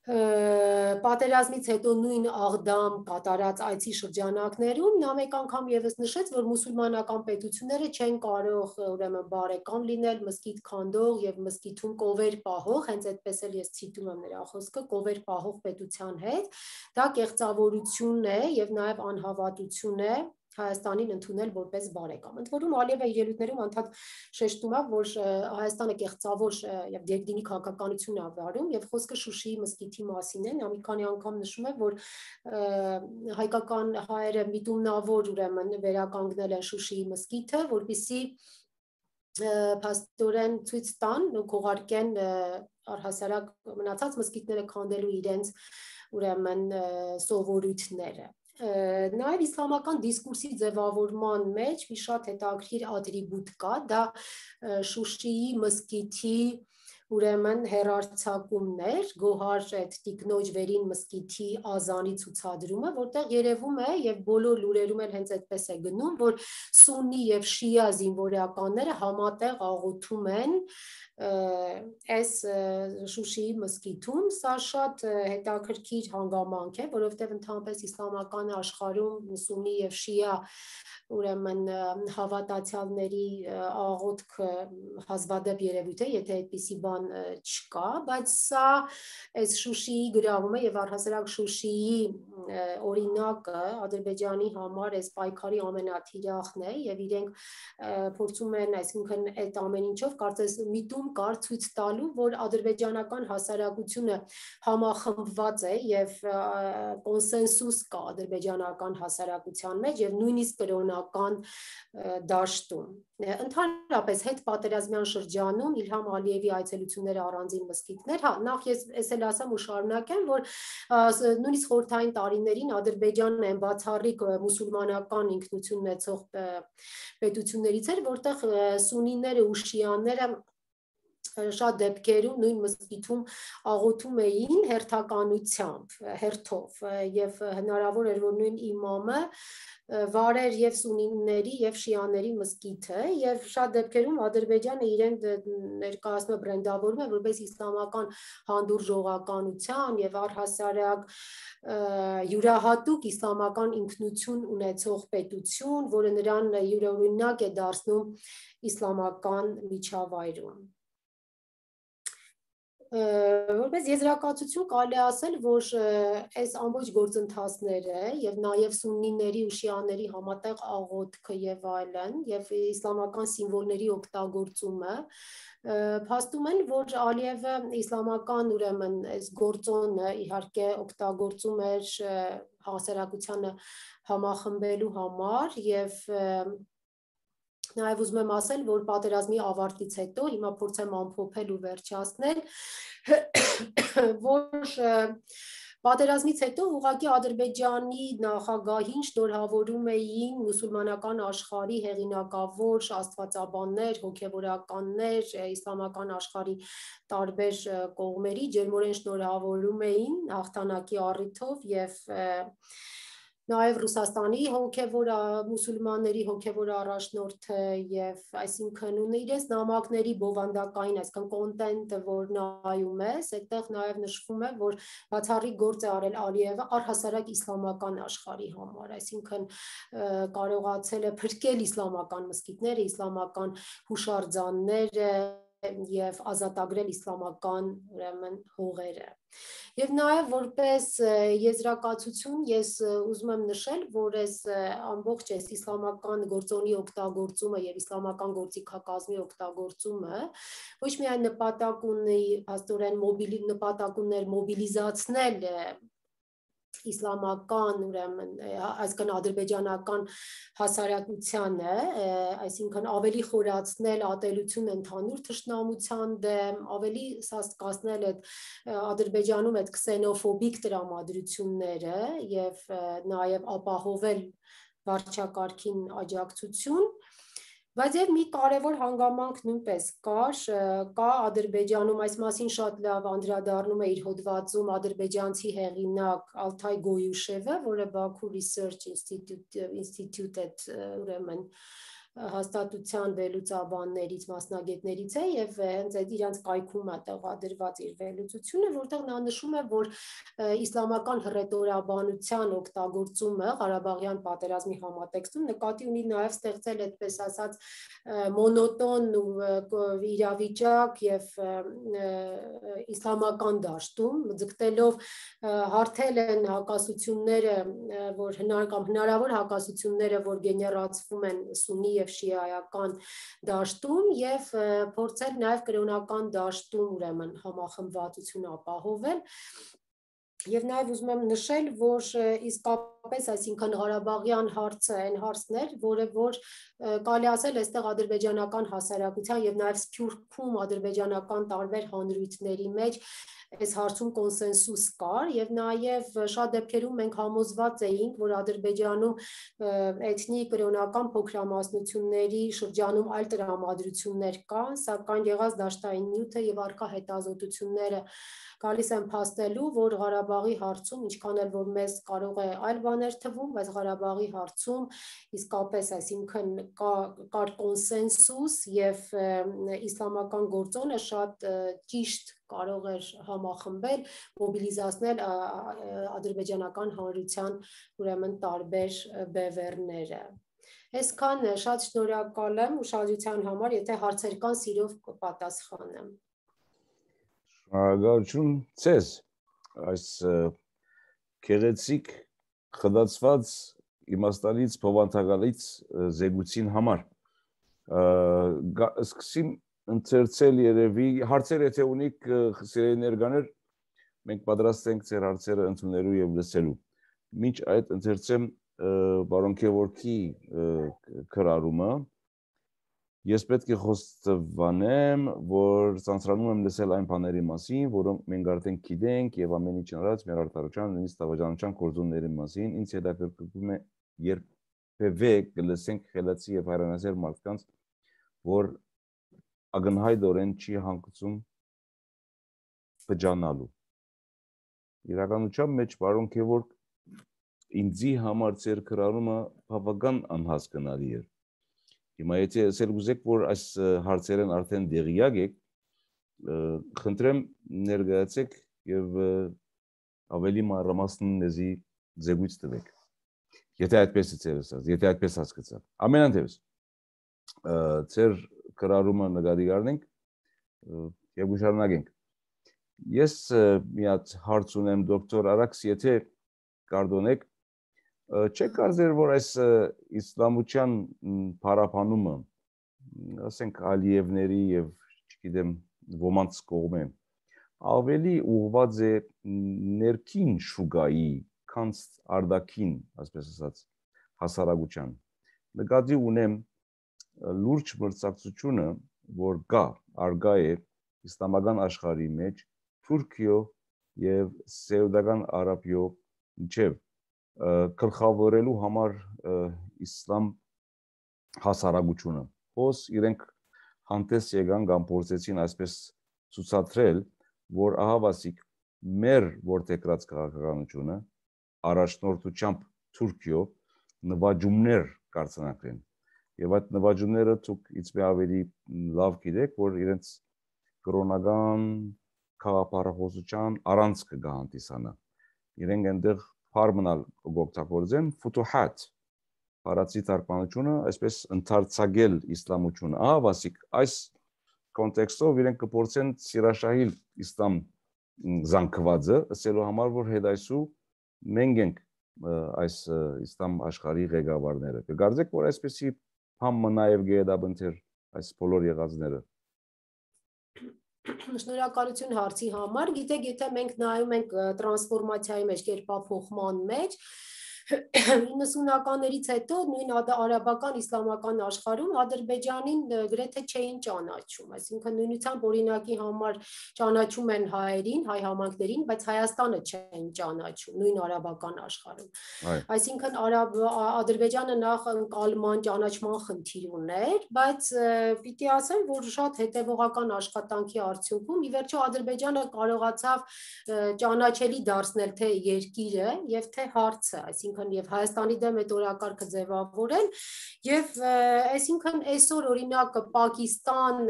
Պատերազմից հետո նույն Աղդամ կատարած այցի շրջանակներում նա մեկ անգամ եւս նշեց, որ մուսուլմանական պետությունները չեն կարող ուրեմն բարեկամ լինել մզկիթ քանդող եւ մզկիթում կովեր պահող, հենց այդպես էլ ես ցիտում եմ նրա խոսքը, կովեր պահող պետության հետ, դա կեղծավորություն է եւ նաեւ անհավատություն է Հայաստանին ընդունել որպես բարեկամ։ Ընդ որում Ալիևը իր ելույթներում անդադ շեշտում է, որ Հայաստանը կեղծավոր եւ դերգդինի քաղաքականություն է վարում եւ խոսքը Շուշիի մզկիթի մասին է, նա մի քանի անգամ նշում է, որ հայկական հայերը միտումնավոր ուրեմն վերականգնել են Շուշիի մզկիթը, որպեսզի փաստորեն ցույց տան ու քողարկեն առհասարակ մնացած մզկիթները քանդելու իրենց ուրեմն սովորույթները։ Նաև իսլամական դիսկուրսի ձևավորման մեջ մի շատ հետաքրքիր ատրիբուտ կա, դա Շուշիի մզկիթի ուրեմն հեռարձակումներ, Գոհար այդ տիկնոջ վերին մզկիթի ազանի ցուցադրումը, որտեղ երևում է եւ բոլոր լուրերում էլ հենց այդպես է գնում, որ սուննի եւ շիա զինվորականները համատեղ աղոթում են այս Շուշիի մզկիթում, սա շատ հետաքրքիր հանգամանք է, որովհետև ընդհանրապես իսլամական աշխարհում սուննի եւ շիա ուրեմն հավատացյալների աղոթքը հազվադեպ երևույթ է, եթե այդպիսի բան բան չկա, բայց սա այս Շուշիի գրավումը եւ առհասարակ Շուշիի օրինակը Ադրբեջանի համար այս պայքարի ամենաթիրախն է եւ իրենք փորձում են, այսինքն այդ ամեն ինչով կարծես միտում կար ցույց տալու, որ ադրբեջանական հասարակությունը համախմբված է եւ կոնսենսուս կա ադրբեջանական հասարակության մեջ եւ նույնիսկ կրոնական դաշտում։ Ընդհանրապես հետ պատերազմյան շրջանում Իլհամ Ալիևի այցելությունները առանձին մզկիթներ, հա, նախ ես ես էլ ասեմ ու շարունակեմ, որ նույնիսկ խորհրդային տարիներին Ադրբեջանն այն բացառիկ մուսուլմանական ինքնություն ունեցող պետություններից էր, որտեղ սուննիները ու շիաները շատ դեպքերում նույն մզկիթում աղոթում էին հերթականությամբ, հերթով եւ հնարավոր էր, որ նույն իմամը վարեր եւ սուննիների եւ շիաների մզկիթը եւ շատ դեպքերում Ադրբեջանը իրեն ներկայացնում է բրենդավորում է որպես իսլամական հանդուրժողականության եւ առհասարակ յուրահատուկ իսլամական ինքնություն ունեցող պետություն, որը նրան յուրօրինակ է դարձնում իսլամական միջավայրում։ Որպես եզրակացություն կարելի ասել, որ այս ամբողջ գործընթացները եւ նաեւ սուննիների ու շիաների համատեղ աղոթքը եւ այլն եւ իսլամական սիմվոլների օգտագործումը փաստում են, որ Ալիևը իսլամական ուրեմն այս գործոնը իհարկե օգտագործում էր հասարակությանը համախմբելու համար եւ Նաև ուզում եմ ասել, որ պատերազմի ավարտից հետո հիմա փորձեմ ամփոփել ու վերջացնել, որ պատերազմից հետո ուղղակի Ադրբեջանի նախագահին շնորհավորում էին մուսուլմանական աշխարհի հեղինակավոր աստվածաբաններ, հոգևորականներ, իսլամական աշխարհի տարբեր կողմերի ջերմորեն շնորհավորում էին հաղթանակի առիթով եւ Նաև Ռուսաստանի հոգևոր մուսուլմանների հոգևոր առաջնորդը եւ այսինքն ունի իրենց նամակների բովանդակային, այսինքն կոնտենտը, որ նայում ես, այդտեղ նաև նշվում է, որ բացառիկ գործ է արել Ալիևը առհասարակ իսլամական աշխարհի համար, այսինքն կարողացել է փրկել իսլամական մզկիթները, իսլամական հուշարձանները եւ ազատագրել իսլամական ուրեմն հողերը։ Եվ նաև որպես եզրակացություն ես ուզում եմ նշել, որ այս ամբողջ այս իսլամական գործոնի օգտագործումը եւ իսլամական գործիքակազմի օգտագործումը ոչ միայն նպատակ ունի աստորեն մոբիլի նպատակ ուներ մոբիլիզացնել իսլամական ուրեմն այսքան ադրբեջանական հասարակությանը, այսինքն ավելի խորացնել ատելություն ընդհանուր թշնամության դեմ, ավելի սաստկացնել այդ Ադրբեջանում այդ քսենոֆոբիկ տրամադրությունները եւ նաեւ ապահովել վարչակարգին աջակցություն Բայց եւ մի կարևոր հանգամանք նույնպես կար, կա Ադրբեջանում այս մասին շատ լավ անդրադառնում է իր հոդվածում ադրբեջանցի հեղինակ Ալթայ Գոյուշևը, որը Baku Research Institute Institute ուրեմն հաստատության վերլուծաբաններից մասնագետներից է եւ հենց այդ իրանց կայքում է տեղադրված իր վերլուծությունը, որտեղ նա նշում է, որ իսլամական հռետորաբանության օգտագործումը Ղարաբաղյան պատերազմի համատեքստում նկատի ունի նաեւ ստեղծել այդպես ասած մոնոտոն իրավիճակ եւ իսլամական դաշտում, ձգտելով հարթել են հակասությունները, որ հնարավոր հակասությունները, որ գեներացվում են սուննի եւ շիայական դաշտում եւ փորձել նաեւ կրոնական դաշտում ուրեմն համախմբվածություն ապահովել Եվ նաև ուզում եմ նշել, որ իսկապես, այսինքն Ղարաբաղյան հարցը այն հարցն էր, որը որ կարելի ասել այստեղ ադրբեջանական հասարակության եւ նաև Սփյուռքում ադրբեջանական տարբեր հանրույթների մեջ այս հարցում կոնսենսուս կար եւ նաեւ շատ դեպքերում մենք համոզված էինք, որ Ադրբեջանում էթնիկ կրոնական փոքրամասնությունների շրջանում այլ տրամադրություններ կան, սակայն եղած դաշտային նյութը եւ առկա հետազոտությունները գալիս են փաստելու, որ Ղարաբաղի հարցում, ինչքան էլ որ մեզ կարող է այլ բաներ թվում, բայց Ղարաբաղի հարցում իսկապես, այսինքն կար կոնսենսուս եւ իսլամական գործոնը շատ ճիշտ կարող էր համախմբել, մոբիլիզացնել ադրբեջանական հանրության ուրեմն տարբեր բևեռները։ Այսքան շատ շնորհակալ եմ ուշադրության համար, եթե հարցեր կան, սիրով կպատասխանեմ։ Շնորհակալություն ցեզ այս գեղեցիկ խդացված իմաստալից փոխանցակալից զեկույցին համար սկսեմ ընթերցել երևի հարցեր եթե ունիք սիրելի ներկաներ մենք պատրաստ ենք ձեր հարցերը ընդունելու եւ լսելու մինչ այդ ընթերցեմ պարոն Քևորքի քրարումը Ես պետք է խոստովանեմ, որ ցանցրանում եմ լսել այն բաների մասին, որոնք մենք արդեն գիտենք եւ ամեն ինչ առած մեր արտարության նույնիսկ տավաճանության կորձունների մասին, ինձ հետաքրքրում է երբևէ կլսենք խելացի եւ հայրենասեր մարդկանց, որ ակնհայտորեն չի հանգուցում բջանալու։ Իրականության մեջ պարոն Քևորք ինձի համար ձեր քրարումը բավական անհասկանալի էր։ Հիմա եթե ասել ուզեք, որ այս հարցերն արդեն դեղյակ եք, խնդրեմ ներկայացեք եւ ավելի մանրամասն նեզի զեկույց տվեք։ Եթե այդպես է ասած, եթե այդպես հասկացա։ Ամենանդեպս ձեր կրարումը նկատի առնենք եւ ուշադրնանք։ Ես մի հատ հարց ունեմ դոկտոր Արաքս, եթե կարդոնեք Չէ կարծեր, որ այս իսլամության փարապանումը, ասենք Ալիևների եւ չգիտեմ ոմանց կողմեն, ավելի ուղղված է ներքին շուկայի, քան արտաքին, ասես ասած, հասարակության։ Նկատի ունեմ լուրջ մրցակցությունը, որ կա, արգա է իսլամական աշխարհի մեջ Թուրքիո եւ Սաուդական Արաբիո միջև գլխավորելու համար իսլամ հասարակությունը։ Հոս իրենք հանդես եկան կամ փորձեցին այսպես ցուցադրել, որ ահավասիկ մեր որտեղած քաղաքականությունը առաջնորդությամբ Թուրքիո նվաճումներ կարձանագրեն։ Եվ այդ նվաճումները ցույց իցմե ավելի լավ գիտեք, որ իրենց կրոնական քաղաքապարախոսության առանց կհանդիսանա։ Իրենք այնտեղ Հարմոնալ օգտագործեն ֆուտուհատ հարացի թարգմանությունը այսպես ընդարձակել իսլամությունը ահավասիկ այս կոնտեքստով իրենք կփորձեն սիրաշահիլ իսլամ զանգվածը ասելու համար որ հետայսու մենք ենք այս իսլամ աշխարհի ղեկավարները կգարձեք որ այսպեսի բան նաև գեդաբընթեր այս բոլոր եղածները Շնորհակալություն հարցի համար։ Գիտեք, եթե մենք նայում ենք տրանսֆորմացիայի մեջ, կերպափոխման մեջ, իննսունականներից հետո նույն արաբական իսլամական աշխարհում Ադրբեջանին գրեթե չէին ճանաչում, այսինքն նույնությամբ օրինակի համար ճանաչում են հայերին, հայ համայնքներին, բայց Հայաստանը չէին ճանաչում նույն արաբական աշխարհում։ Այսինքն Ադրբեջանը նախ ընկալման ճանաչման խնդիր ուներ, բայց պիտի ասեմ, որ շատ հետևողական աշխատանքի արդյունքում ի վերջո Ադրբեջանը կարողացավ ճանաչելի դարձնել թե երկիրը եւ թե հարցը, այսինքն եւ Հայաստանի դեմ այդ օրակարգը ձևավորել եւ այսինքն այսօր օրինակ Պակիստան,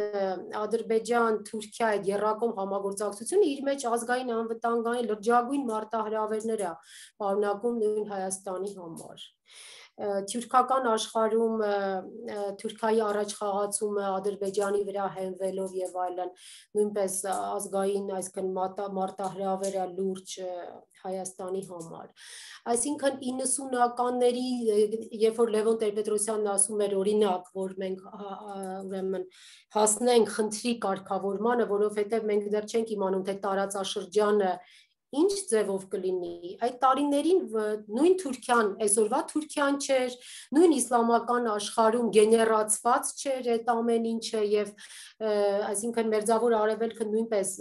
Ադրբեջան, Թուրքիա այդ երրակողմ համագործակցությունը իր մեջ ազգային անվտանգային լրջագույն մարտահրավերներ է պարունակում նույն Հայաստանի համար։ Թուրքական աշխարհում Թուրքիայի առաջխաղացումը Ադրբեջանի վրա հենվելով եւ այլն նույնպես ազգային այսքան մարտահրավերը լուրջ Հայաստանի համար։ Այսինքն իննսունականների, երբ որ Լևոն Տեր-Պետրոսյանն ասում էր օրինակ, որ մենք ուրեմն հասնենք խնդրի կարգավորմանը, որովհետեւ մենք դեռ չենք իմանում թե տարածաշրջանը ինչ ձևով կլինի, այդ տարիներին նույն Թուրքիան, այսօրվա Թուրքիան չէր, նույն իսլամական աշխարհում գեներացված չէր այդ ամեն ինչը եւ այսինքն մերձավոր արևելքը նույնպես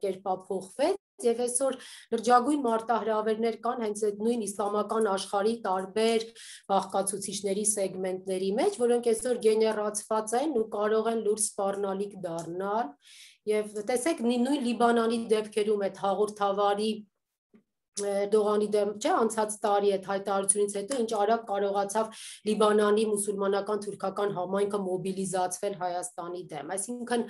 կերպափոխվեց եւ այսօր լրջագույն մարտահրավերներ կան հենց այդ նույն իսլամական աշխարհի տարբեր բաղկացուցիչների սեգմենտների մեջ, որոնք այսօր գեներացված են ու կարող են լուրջ սպառնալիք դառնալ եւ տեսեք նույն Լիբանանի դեպքերում այդ հաղորդավարի Դողանի դեմ չէ անցած տարի այդ հայտարարությունից հետո ինչ արագ կարողացավ Լիբանանի մուսուլմանական թուրքական համայնքը մոբիլիզացվել Հայաստանի դեմ, այսինքն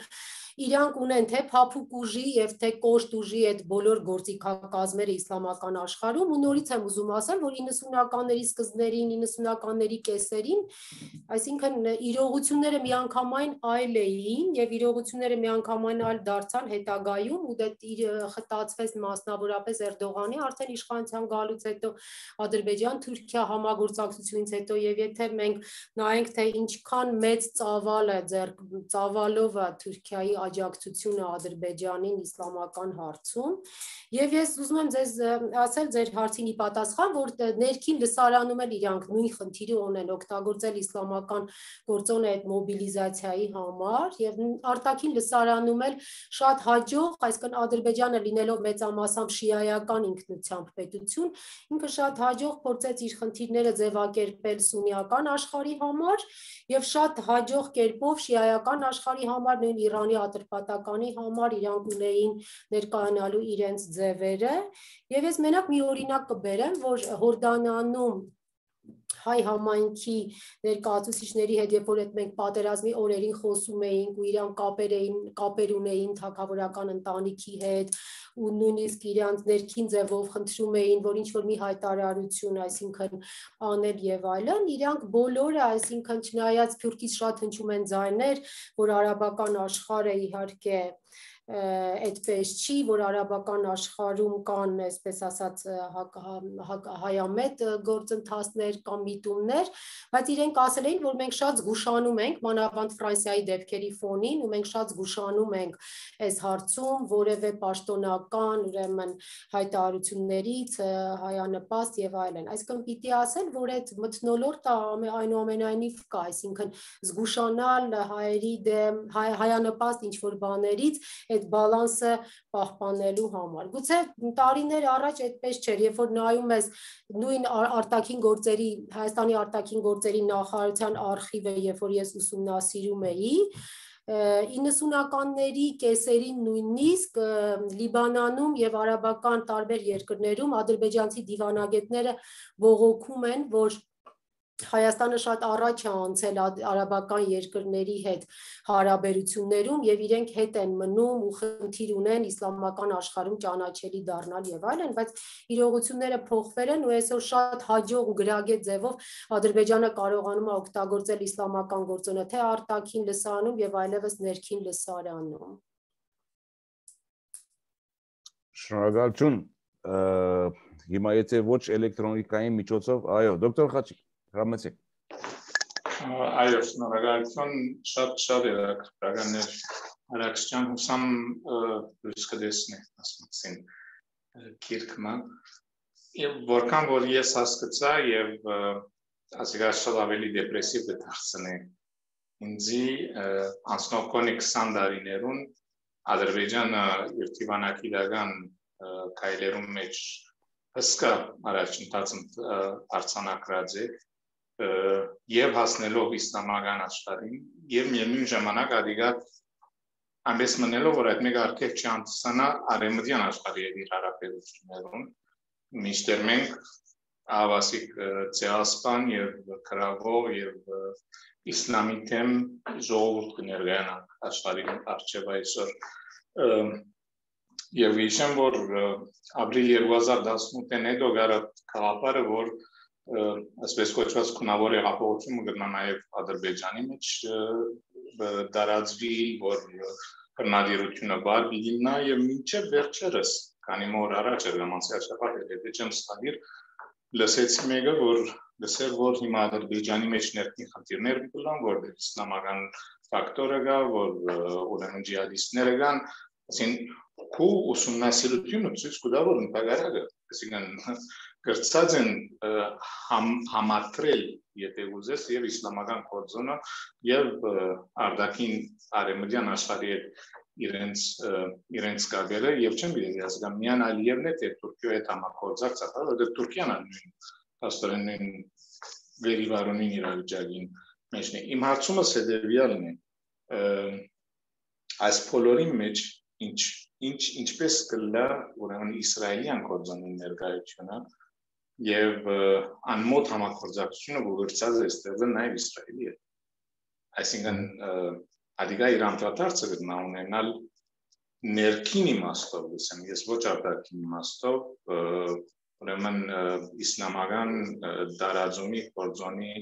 իրանք ունեն թե փափուկ ուժի եւ թե կոշտ ուժի այդ բոլոր գործիքակազմերը իսլամական աշխարհում ու նորից եմ ուզում ասել, որ իննսունականների սկզբներին, իննսունականների կեսերին, այսինքն իրողությունները միանգամայն այլ էին եւ իրողությունները միանգամայն այլ դարձան հետագայում ու դա խտացվեց մասնավորապես Էրդողանի արդեն իշխանության գալուց հետո Ադրբեջան-Թուրքիա համագործակցությունից հետո եւ եթե մենք նայենք թե ինչքան մեծ ծավալ է ձեր ծավալով է Թուրքիայի աջակցությունը Ադրբեջանին իսլամական հարցում եւ ես ուզում եմ ձեզ ասել ձեր հարցին ի պատասխան որ ներքին լսարանում էլ իրանք նույն խնդիրը ունեն օգտագործել իսլամական գործոնը այդ մոբիլիզացիայի համար եւ արտաքին լսարանում էլ շատ հաջող, այսինքն Ադրբեջանը լինելով մեծամասամբ շիայական ինքնությամբ պետություն, ինքը շատ հաջող փորձեց իր խնդիրները ձևակերպել սուննիական աշխարհի համար եւ շատ հաջող կերպով շիայական աշխարհի համար, նույն Իրանի ատրպատականի համար իրանք ունեին ներկայանալու իրենց ձևերը եւ ես մենակ մի օրինակ կբերեմ, որ Հորդանանում հայ համայնքի ներկայացուցիչների հետ, երբ որ այդ մենք պատերազմի օրերին խոսում էինք ու իրան կապեր էին, կապեր ունեին թագավորական ընտանիքի հետ ու նույնիսկ իրանց ներքին ձևով խնդրում էին, որ ինչ որ մի հայտարարություն, այսինքն անել եւ այլն, իրանք բոլորը, այսինքն չնայած Թուրքից շատ հնչում են ձայներ, որ արաբական աշխարհը իհարկե այդպես չի, որ արաբական աշխարհում կան, այսպես ասած, հայամետ գործընթացներ կամ միտումներ, բայց իրենք ասել էին, որ մենք շատ զգուշանում ենք, մանավանդ Ֆրանսիայի դեպքերի ֆոնին, ու մենք շատ զգուշանում ենք այս հարցում որևէ պաշտոնական, ուրեմն հայտարարություններից, հայանպաստ եւ այլն։ Այսինքն պիտի ասել, որ այդ մթնոլորտը այնուամենայնիվ կա, այսինքն զգուշանալ հայերի դեմ, հայանպաստ ինչ որ բաներից այդ բալանսը պահպանելու համար։ Գուցե տարիներ առաջ այդպես չէր, երբ որ նայում ես նույն արտաքին գործերի, Հայաստանի արտաքին գործերի նախարարության արխիվը, երբ որ ես ուսումնասիրում էի, իննսունականների կեսերին նույնիսկ Լիբանանում եւ արաբական տարբեր երկրներում ադրբեջանցի դիվանագետները բողոքում են, որ Հայաստանը շատ առաջ է անցել արաբական երկրների հետ հարաբերություններում եւ իրենք հետ են մնում ու խնդիր ունեն իսլամական աշխարհում ճանաչելի դառնալ եւ այլն, բայց իրողությունները փոխվել են ու այսօր շատ հաջող ու գրագետ ձևով Ադրբեջանը կարողանում է օգտագործել իսլամական գործոնը թե արտաքին լսարանում եւ այլևս ներքին լսարանում։ Շնորհակալություն։ Հիմա եթե ոչ էլեկտրոնիկային միջոցով, այո, դոկտոր Խաչիկ Ramazek. Այո, շնորհակալություն, շատ շատ երախտականներ Արաքսյան հուսամ լույս կտեսնի ասացին քիրքմա եւ որքան որ ես հասկացա եւ ասիկա շատ ավելի դեպրեսիվ դարձնի ինձի անցնողքոնի քսան տարիներուն Ադրբեջանը իր դիվանագիտական քայլերում մեջ հսկա առաջընթացում արձանագրած է եւ հասնելով իսլամական աշխարհին եւ միևնույն ժամանակ ադիգա այնպես մնելով որ այդ մեկ արկեղ չանցնա արեմդյան աշխարհի եւ իր հարաբերություններում միշտեր մենք ավասիկ ցեասպան եւ քրավով եւ իսլամի թեմ ժողովուրդ կներկայանանք աշխարհի արչեւ այսօր եւ հիշեմ որ ապրիլ երկու հազար տասնութին հետո գարա քաղաքարը որ այսպես կոչված քունավոր հեղափոխությունը գտնա նաև Ադրբեջանի մեջ դարածվի, որ քննադիրությունը բար լինա եւ մինչեւ վերջերս, քանի որ առաջ էր լամանցիաշապատ եթե չեմ ստադիր, լսեցի մեկը, որ լսել որ հիմա Ադրբեջանի մեջ ներքին խնդիրներ կան, որ իսլամական ֆակտորը կա, որ ուրեմն ջիհադիստները կան, ասին քու ուսումնասիրությունը ցույց կտա որ ընդհանրապես, այսինքն գրծած են համատրել եթե ուզես եւ իսլամական կորձոնը եւ արդակին արեմդյան աշխարհի իրենց իրենց կապերը եւ չեմ գիտի ասկամ միան Ալիևն է թե Թուրքիայի հետ համագործակցած որովհետեւ Թուրքիան նույն աստորեն վերիվարունին իրավիճակին մեջն է իմ հարցումս հետեւյալն է այս բոլորի մեջ ինչ ինչ ինչպես կլա ուրեմն իսրայելյան կորձոնի ներկայությունը եւ անմոտ համագործակցությունը գողերցած է ստեղծել նաեւ Իսրայելի հետ այսինքն Ադիգա իր անդրադարձը գտնա ունենալ ներքին իմաստով, ասեմ, ես ոչ արտաքին իմաստով, ուրեմն իսլամական դարաձունի կորձոնի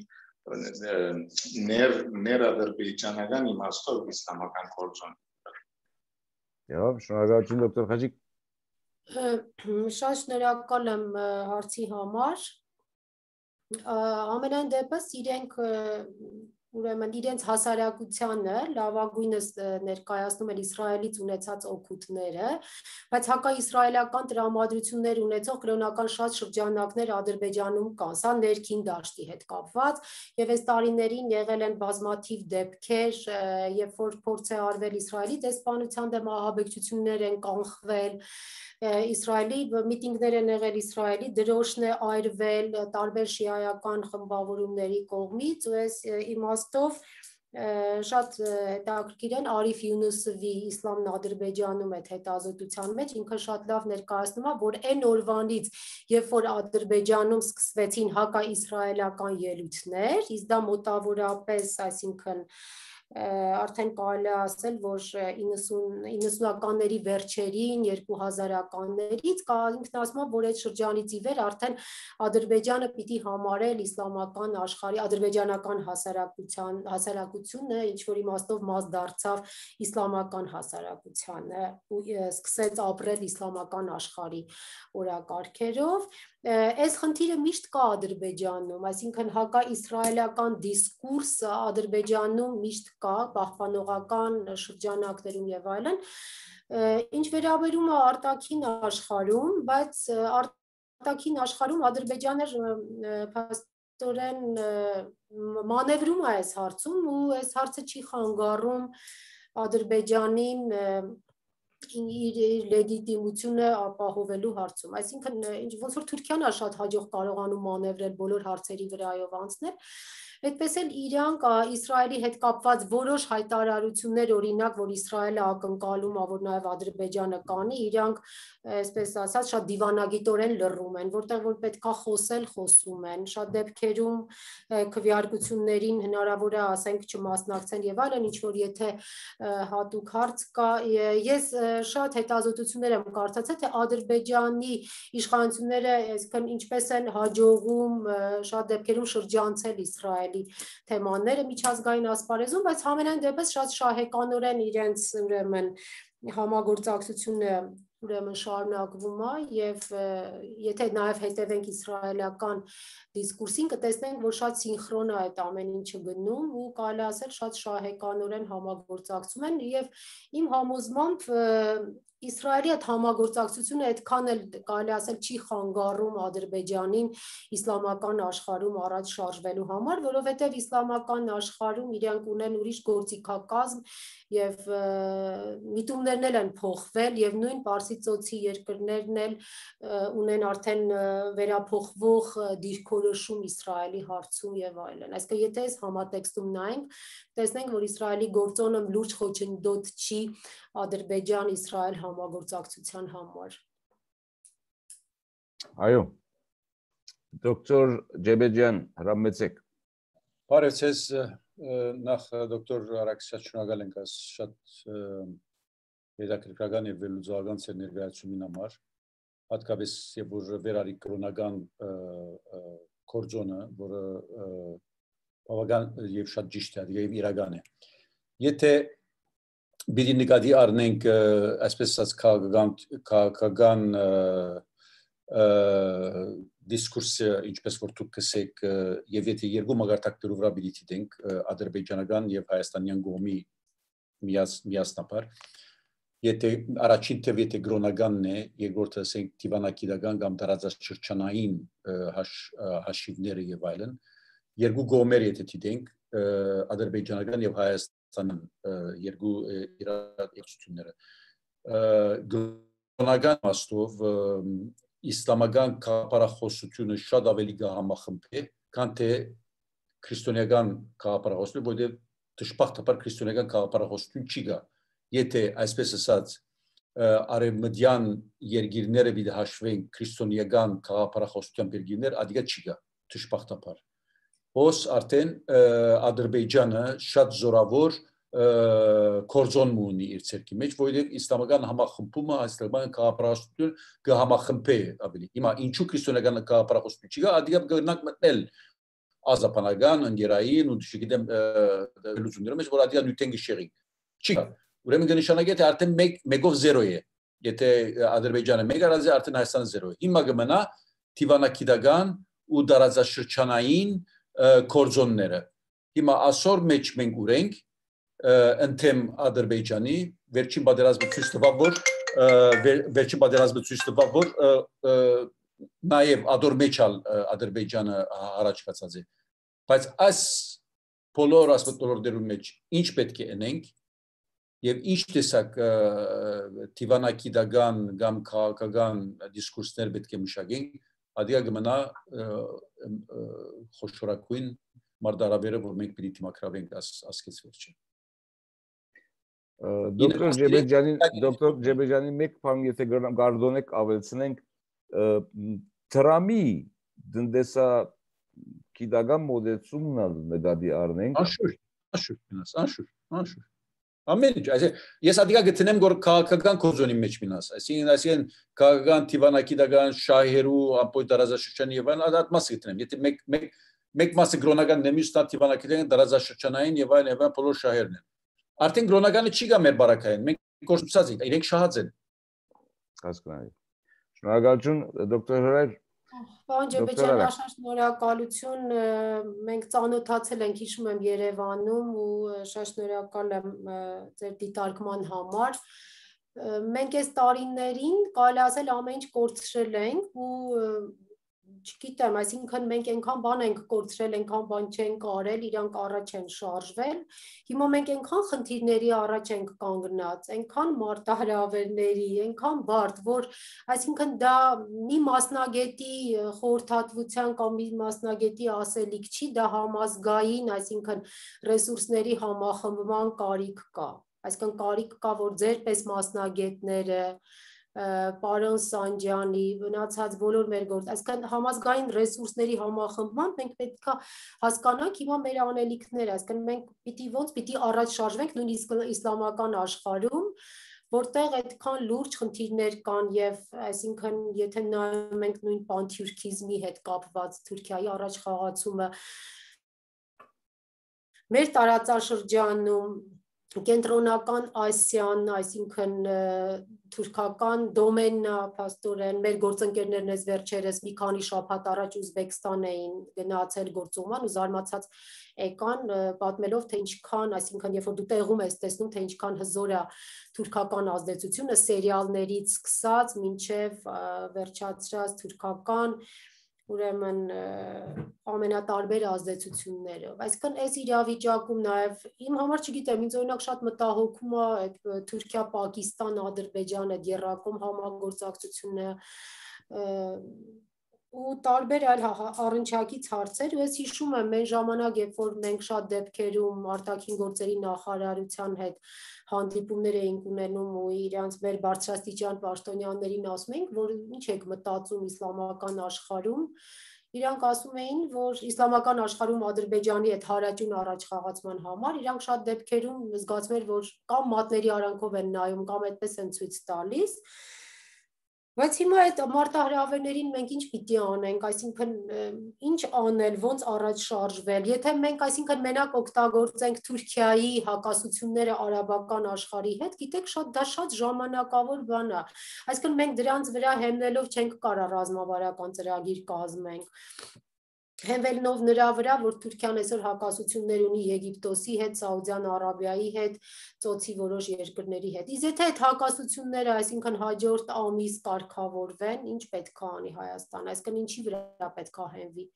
ներ ներադրբեջանական իմաստով իսլամական կորձոն։ Եվ շնորհակալություն դոկտոր Խաչիկ։ Շատ շնորհակալ եմ հարցի համար։ Ամենայն դեպս իրենք ուրեմն իրենց հասարակությանը լավագույնս ներկայացնում են Իսրայելից ունեցած օգուտները, բայց հակաիսրայելական տրամադրություններ ունեցող կրոնական շատ շրջանակներ Ադրբեջանում կան, սա ներքին դաշտի հետ կապված, եւ այս տարիներին եղել են բազմաթիվ դեպքեր, երբ որ փորձ է արվել Իսրայելի դեսպանության դեմ ահաբեկչություններ են կանխվել, Իսրայելի միտինգներ են եղել Իսրայելի դրոշն է այրվել տարբեր շիայական խմբավորումների կողմից, ու այս իմաստով շատ հետաքրքիր են Արիֆ Յունուսովի Իսլամն Ադրբեջանում այդ հետազոտության մեջ ինքը շատ լավ ներկայացնում է, որ այն օրվանից, երբ որ Ադրբեջանում սկսվեցին հակաիսրայելական ելույթներ, իսկ դա մոտավորապես, այսինքն արդեն կարելի է ասել, որ իննսունականների վերջերին, երկու հազարականներից ինքն ասում է, որ այդ շրջանից ի վեր արդեն Ադրբեջանը պիտի համարել իսլամական աշխարհի ադրբեջանական հասարակության հասարակությունը ինչ որ իմաստով մաս դարձավ իսլամական հասարակությանը ու սկսեց ապրել իսլամական աշխարհի օրակարգերով։ Այս խնդիրը միշտ կա Ադրբեջանում, այսինքն հակաիսրայելական դիսկուրսը Ադրբեջանում միշտ կա, պահպանողական շրջանակներում եւ այլն, ինչ վերաբերում է արտաքին աշխարհում, բայց արտաքին աշխարհում Ադրբեջանը փաստորեն մանևրում է այս հարցում ու այս հարցը չի խանգարում Ադրբեջանին իր լեգիտիմությունը ապահովելու հարցում, այսինքն ոնց որ Թուրքիան է շատ հաջող կարողանում մանևրել բոլոր հարցերի վրայով անցնել, այդպես էլ իրանք Իսրայելի հետ կապված որոշ հայտարարություններ, օրինակ, որ Իսրայելը ակնկալում է, որ նաև Ադրբեջանը կանի, իրանք, այսպես ասած, շատ դիվանագիտորեն լռում են, որտեղ որ պետքա խոսել, խոսում են, շատ դեպքերում քվեարկություններին հնարավոր է, ասենք, չմասնակցեն եւ այլն, ինչ որ եթե հատուկ հարց կա, ես շատ հետազոտություններ եմ կարդացել, թե Ադրբեջանի իշխանությունները, այսինքն ինչպես են հաջողում շատ դեպքերում շրջանցել Իսրայելի թեմաները միջազգային ասպարեզում, բայց համենայն դեպս շատ շահեկանորեն իրենց ուրեմն համագործակցությունը ուրեմն շարունակվում է եւ եթե նաեւ հետևենք իսրայելական դիսկուրսին կտեսնենք, որ շատ սինխրոն է այդ ամեն ինչը գնում ու կարելի ասել շատ շահեկանորեն համագործակցում են եւ իմ համոզմամբ Իսրայելի այդ համագործակցությունը այդքան էլ կարելի ասել չի խանգարում Ադրբեջանին իսլամական աշխարհում առաջ շարժվելու համար, որովհետև իսլամական աշխարհում իրանք ունեն ուրիշ գործիքակազմ եւ միտումներն էլ են փոխվել եւ նույն Պարսիցոցի երկրներն էլ ունեն արդեն վերափոխվող դիրքորոշում Իսրայելի հարցում եւ այլն։ Այսինքն եթե այս համատեքստում նայենք, տեսնենք, որ Իսրայելի գործոնը լուրջ խոչընդոտ չի Ադրբեջան-Իսրայել համագործակցության համար։ Այո, դոկտոր Ջեբեջյան, հրամեցեք։ Բարև ձեզ, նախ դոկտոր Արաքսյան շնորհակալ ենք այս շատ հետաքրքրական եւ վերլուծական ծեր ներկայացումին համար, հատկապես երբ որ վերարի կրոնական կորձոնը, որը բավական եւ շատ ճիշտ է եւ իրական է։ Եթե Բիդի նկատի առնենք այսպես ասած քաղաքական դիսկուրսը, ինչպես որ դուք կսեք, եւ եթե երկու մագարտակներով վրա պիտի դիտենք ադրբեջանական եւ հայաստանյան կողմի միասնաբար, եթե առաջին թվի եթե կրոնականն է, երկրորդը ասենք դիվանագիտական կամ տարածաշրջանային հաշիվները եւ այլն, երկու կողմեր եթե դիտենք ադրբեջանական եւ հայաստան երկու իրադարձությունները կրոնական իմաստով իսլամական քաղաքապարախոսությունը շատ ավելի կհամախմբի, քան թե քրիստոնեական քաղաքապարախոսությունը, որտեղ դժբախտաբար քրիստոնեական քաղաքապարախոսություն չի գա։ Եթե այսպես ասած արևմտյան երկիրները պիտի հաշվեն քրիստոնեական քաղաքապարախոսության երկիրներ, ադիգա չի գա դժբախտաբար։ Ոս արդեն Ադրբեջանը շատ զորավոր կորձոն մունի իր ցերքի մեջ, որովհետև իսլամական համախմբումը այսօրյան կապրաշտություն կհամախմբե ավելի։ Հիմա ինչու քրիստոնեական կապրաշտություն չի գա, ադիգա գնանք մտնել ազապանական, ընկերային ու չգիտեմ լուծումների մեջ, որ ադիգա նյութեն գիշերի։ Չի գա։ Ուրեմն կնշանակի թե արդեն մեկով զերո է։ Եթե Ադրբեջանը մեկ արած է, արդեն Հայաստանը զերո է։ Հիմա կմնա թիվանակիդական ու դարաձաշրջանային կորձոնները։ Հիմա ասոր մեջ մենք ունենք ընդեմ Ադրբեջանի վերջին պատերազմը ցույց տվավ, որ վերջին պատերազմը ցույց տվավ, որ նաև ադոր մեջալ Ադրբեջանը առաջ կացած է։ Բայց այս բոլոր ասպետներում մեջ ինչ պետք է ունենք եւ ինչ տեսակ թիվանակիդական կամ քաղաքական դիսկուրսներ պետք է մշակենք, ադիգա կմնա խոշորագույն մարտահրավերը, որ մենք պիտի դիմակրավենք ասկից վերջը։ Դոկտոր Ջեբեջանի, դոկտոր Ջեբեջանի մեկ բան եթե գարդոնեք ավելցնենք Թրամի դնդեսա կիդական մոդեցումն ալ նկատի առնենք։ Անշուշտ, անշուշտ, անշուշտ, անշուշտ։ Ամեն ինչ, ես ադիգա գտնեմ որ քաղաքական կոզոնի մեջ մինաս, այսինքն այսինքն քաղաքական թիվանակիդական շահերու ապոյ տարածաշրջանի եւ այլն այդ մասը գտնեմ։ Եթե մեկ մեկ մեկ մասը գրոնական նեմիստա թիվանակիդական տարածաշրջանային եւ այլն եւ այլն բոլոր շահերն են։ Արդեն գրոնականը չի գա մեր բարակային, մենք կորցուցած ենք, իրենք շահած են։ Հասկանալի։ Շնորհակալություն, դոկտոր Հրայր։ Պարոն Ջեբեջյան, աշնորհ շնորհակալություն, մենք ծանոթացել ենք, հիշում եմ Երևանում ու շատ շնորհակալ եմ ձեր դիտարկման համար։ Մենք այս տարիներին կարելի ասել ամեն ինչ կորցրել ենք ու չգիտեմ, այսինքն մենք այնքան բան ենք կորցրել, այնքան բան չենք արել, իրանք առաջ են շարժվել։ Հիմա մենք այնքան խնդիրների առաջ ենք կանգնած, այնքան մարտահրավերների, այնքան բարդ, որ այսինքն դա մի մասնագետի խորհրդատվության կամ մի մասնագետի ասելիք չի, դա համազգային, այսինքն ռեսուրսների համախմբման կարիք կա։ Այսինքն կարիք կա, որ ձեր պես մասնագետները պարոն Սանջյանի, մնացած բոլոր մեր գործ, այսինքն համազգային ռեսուրսների համախմբման մենք պետք է հասկանանք հիմա մեր անելիքները, այսինքն մենք պիտի ոնց պիտի առաջ շարժվենք նույնիսկ իսլամական աշխարհում, որտեղ այդքան լուրջ խնդիրներ կան եւ այսինքն եթե նայում ենք նույն պանթյուրքիզմի հետ կապված Թուրքիայի առաջ խաղացումը մեր տարածաշրջանում Կենտրոնական Ասիան, այսինքն թուրքական դոմեննա փաստորեն մեր գործընկերներն էս վերջերս մի քանի շաբաթ առաջ Ուզբեկստան էին գնացել գործուղման ու զարմացած եկան պատմելով թե ինչքան, այսինքն երբ որ դու տեղում ես տեսնում թե ինչքան հզոր է թուրքական ազդեցությունը սերիալներից սկսած մինչև վերջացրած թուրքական ուրեմն ամենատարբեր ազդեցություններով։ Այսինքն այս իրավիճակում նաև իմ համար չգիտեմ, ինձ օրինակ շատ մտահոգում է այդ Թուրքիա-Պակիստան, Ադրբեջան այդ երրակում համագործակցությունը ու տարբեր այլ առնչակից հարցեր, ու ես հիշում եմ մեր ժամանակ, երբ որ մենք շատ դեպքերում արտաքին գործերի նախարարության հետ հանդիպումներ էինք ունենում ու իրանց մեր բարձրաստիճան պաշտոնյաներին ասում էինք, որ ինչ եք մտածում իսլամական աշխարհում, իրանք ասում էին, որ իսլամական աշխարհում Ադրբեջանի այդ հարաճուն առաջխաղացման համար իրանք շատ դեպքերում զգացում էր, որ կամ մատների արանքով են նայում, կամ այդպես են ցույց տալիս։ Բայց հիմա այդ մարտահրավերներին մենք ինչ պիտի անենք, այսինքն ինչ անել, ոնց առաջ շարժվել, եթե մենք այսինքն մենակ օգտագործենք Թուրքիայի հակասությունները արաբական աշխարհի հետ, գիտեք, շատ դա շատ ժամանակավոր բան է, այսինքն մենք դրանց վրա հենվելով չենք կարող ռազմավարական ծրագիր կազմենք, հենվելով նրա վրա, որ Թուրքիան այսօր հակասություններ ունի Եգիպտոսի հետ, Սաուդյան Արաբիայի հետ, ծոցի որոշ երկրների հետ։ Իսկ եթե այդ հակասությունները, այսինքն հաջորդ ամիս կարգավորվեն, ինչ պետք է անի Հայաստան, այսինքն ինչի վրա պետք է հենվի։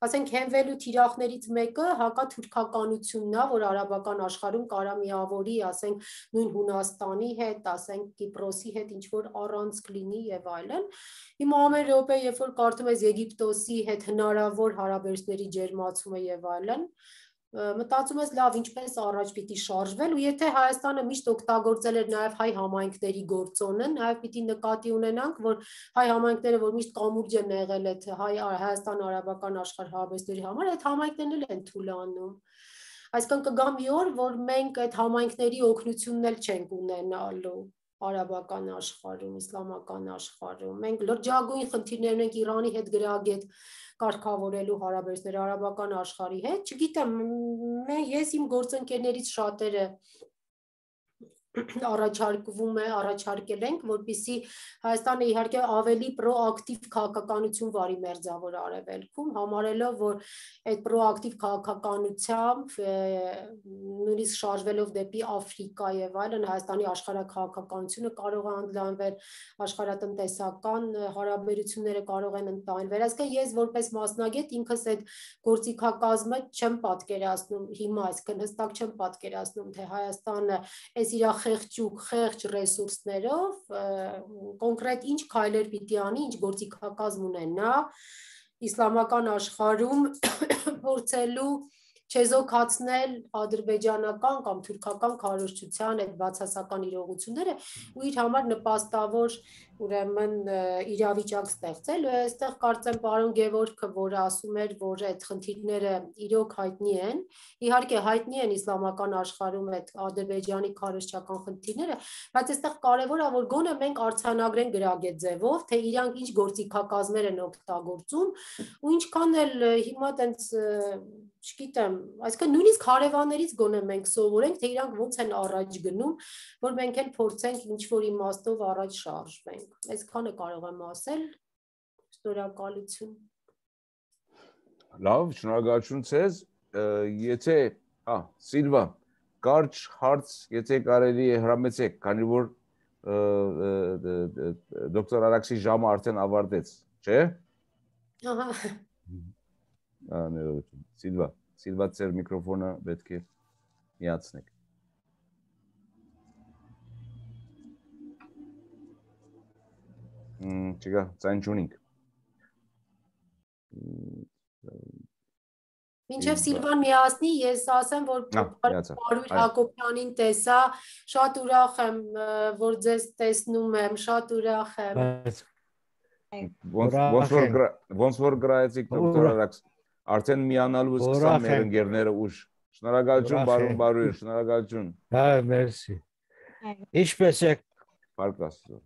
Ասենք հենվելու թիրախներից մեկը հակաթուրքականությունն է, որ արաբական աշխարհում կարա միավորի, ասենք նույն Հունաստանի հետ, ասենք Կիպրոսի հետ ինչ որ առանցք լինի եւ այլն։ Հիմա ամեն րոպե, երբ որ կարդում ես Եգիպտոսի հետ հնարավոր հարաբերությունների ջերմացումը եւ այլն, մտածում ես լավ ինչպես առաջ պիտի շարժվել ու եթե Հայաստանը միշտ օգտագործել էր նաև հայ համայնքների գործոնը, նաև պիտի նկատի ունենանք, որ հայ համայնքները, որ միշտ կամուրջ են եղել այդ հայ Հայաստան արաբական աշխարհ հարաբերությունների համար, այդ համայնքներն էլ են թուլանում։ Այսինքն կգա մի օր, որ մենք այդ համայնքների օգնությունն էլ չենք ունենալու արաբական աշխարհում, իսլամական աշխարհում։ Մենք լրջագույն խնդիրներ ունենք Իրանի հետ գրագետ կարգավորելու հարաբերությունները արաբական աշխարհի հետ։ Չգիտեմ, ես իմ գործընկերներից շատերը առաջարկվում է, առաջարկել ենք, որպեսզի Հայաստանը իհարկե ավելի պրոակտիվ քաղաքականություն վարի մերձավոր արևելքում, համարելով, որ այդ պրոակտիվ քաղաքականությամբ նույնիսկ շարժվելով դեպի Աֆրիկա եւ այլն Հայաստանի աշխարհաքաղաքականությունը կարող է ընդլայնվել, աշխարհատնտեսական հարաբերությունները կարող են ընդլայնվել։ Այսինքն ես որպես մասնագետ ինքս այդ գործիքակազմը չեմ պատկերացնում հիմա, այսինքն հստակ չեմ պատկերացնում, թե Հայաստանը այս իր խեղճուկ, խեղճ ռեսուրսներով կոնկրետ ինչ քայլեր պիտի անի, ինչ գործիքակազմ ունենա իսլամական աշխարհում փորձելու չեզոքացնել ադրբեջանական կամ թուրքական քարոզչության այդ բացասական իրողությունները ու իր համար նպաստավոր ուրեմն իրավիճակ ստեղծել։ Այստեղ կարծեմ պարոն Գևորգը, որ ասում էր, որ այդ խնդիրները իրոք հայտնի են, իհարկե հայտնի են իսլամական աշխարհում այդ ադրբեջանի քարոզչական խնդիրները, բայց այստեղ կարևոր է, որ գոնե մենք արձանագրենք գրագետ ձևով, թե իրանք ինչ գործիքակազմեր են օգտագործում ու ինչքան էլ հիմա տենց չգիտեմ, այսինքն նույնիսկ հարևաններից գոնե մենք սովորենք, թե իրանք ոնց են առաջ գնում, որ մենք էլ փորձենք ինչ-որ իմաստով առաջ շարժվենք։ Այսքանը կարող եմ ասել, շնորհակալություն։ Լավ, շնորհակալություն ձեզ, եթե, ա, Սիլվա, կարճ հարց, եթե կարելի է հրամեցեք, քանի որ դոկտոր Արաքսի ժամը արդեն ավարտեց, չէ՞։ Ահա։ Ներողություն, Սիլվա, Սիլվա ձեր միկրոֆոնը պետք է միացնեք։ Չկա, ձայն չունենք։ Մինչև Սիլվան միացնի, ես ասեմ, որ Պարույր Հակոբյանին տեսա, շատ ուրախ եմ, որ ձեզ տեսնում եմ, շատ ուրախ եմ։ Ոնց որ գրայեցիք դոկտոր Արաքս, արդեն միանալու սկսան մեր ընկերները ուշ։ Շնորհակալություն, բարոն Պարույր, շնորհակալություն։ Հա, մերսի։ Ինչպես եք։ Փառք Աստծո։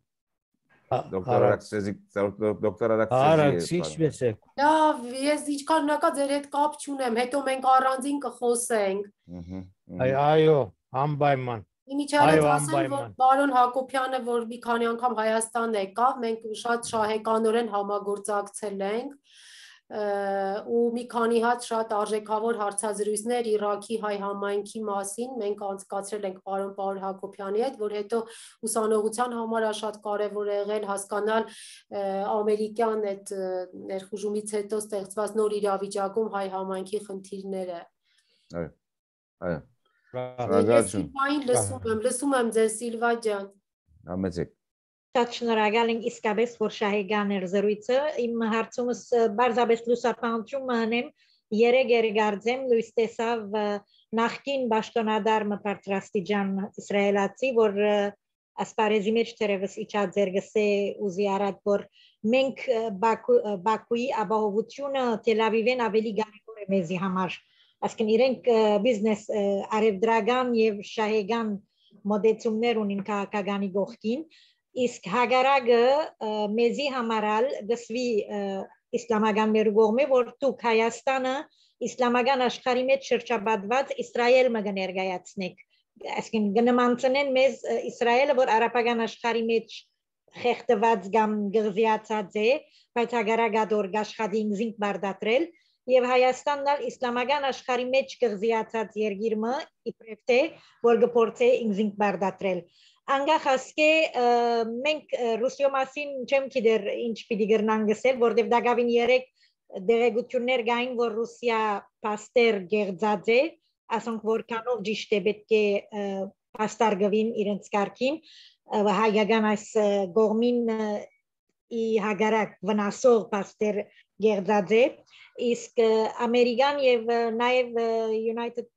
Դոկտոր Արաքսի, դոկտոր Արաքսի։ Արաքս, ինչպես եք։ Լավ, ես ինչքան հնակա ձեր հետ կապ չունեմ, հետո մենք առանձին կխոսենք։ Այո, անպայման։ Իմիջիայլոց ասեմ, որ պարոն Հակոբյանը, որ մի քանի անգամ Հայաստան եկավ, մենք շատ շահեկանորեն համագործակցել ենք ու մի քանի հատ շատ արժեքավոր հարցազրույցներ Իրաքի հայ համայնքի մասին մենք անցկացրել ենք պարոն Պարոն Հակոբյանի հետ, որ հետո ուսանողության համար շատ կարևոր է եղել հասկանալ ամերիկյան այդ ներխուժումից հետո ստեղծված նոր իրավիճակում հայ համայնքի խնդիրները։ Այո, այո։ Ես Սիլվային լսում եմ, լսում եմ ձեզ Սիլվա ջան։ Համեցեք։ Շատ շնորհակալ ենք իսկապես, որ շահեկան էր զրույցը, իմ հարցումս բարձրապես լուսապանություն մհանեմ, երեկ երգարձեմ լույս տեսավ նախկին պաշտոնադար մպարտրաստիջան իսրայելացի, որ ասպարեզի մեջ թերևս իջած երգսե ուզի արած, որ մենք Բաքուի ապահովությունը Թել Ավիվեն ավելի կարևոր է մեզի համար, այսինքն իրենք բիզնես արևդրական եւ շահեկան մոդեցումներ ունին քաղաքականի գողքին, իսկ հագարակը մեզի համարալ գսվի իսլամական մեր կողմը, որ դուք Հայաստանը իսլամական աշխարհի մեջ շրջապատված Իսրայել մը կներկայացնեք, այսինքն կնմանցնեն մեզ Իսրայելը, որ արաբական աշխարհի մեջ խեղդված կամ գղզիացած է, բայց հագարակը դոր աշխատի ինքնին բարդատրել եւ Հայաստանն ալ իսլամական աշխարհի մեջ գղզիացած երկիր մը իբրև թե որ գործե ինքնին բարդատրել։ Անգախ ասկե մենք Ռուսիո մասին չեմ գիտեր ինչ պիտի գրնան գսել, որտեվ դակավին երեք դերեկություններ գային, որ Ռուսիա պաստեր գեղձած է, ասոնք որքանով ճիշտ է պետք է պաստարգվին իրենց կարգին, հայկական այս գողմին ի հագարակ վնասող պաստեր գեղձած է, իսկ Ամերիկան եւ նաեւ United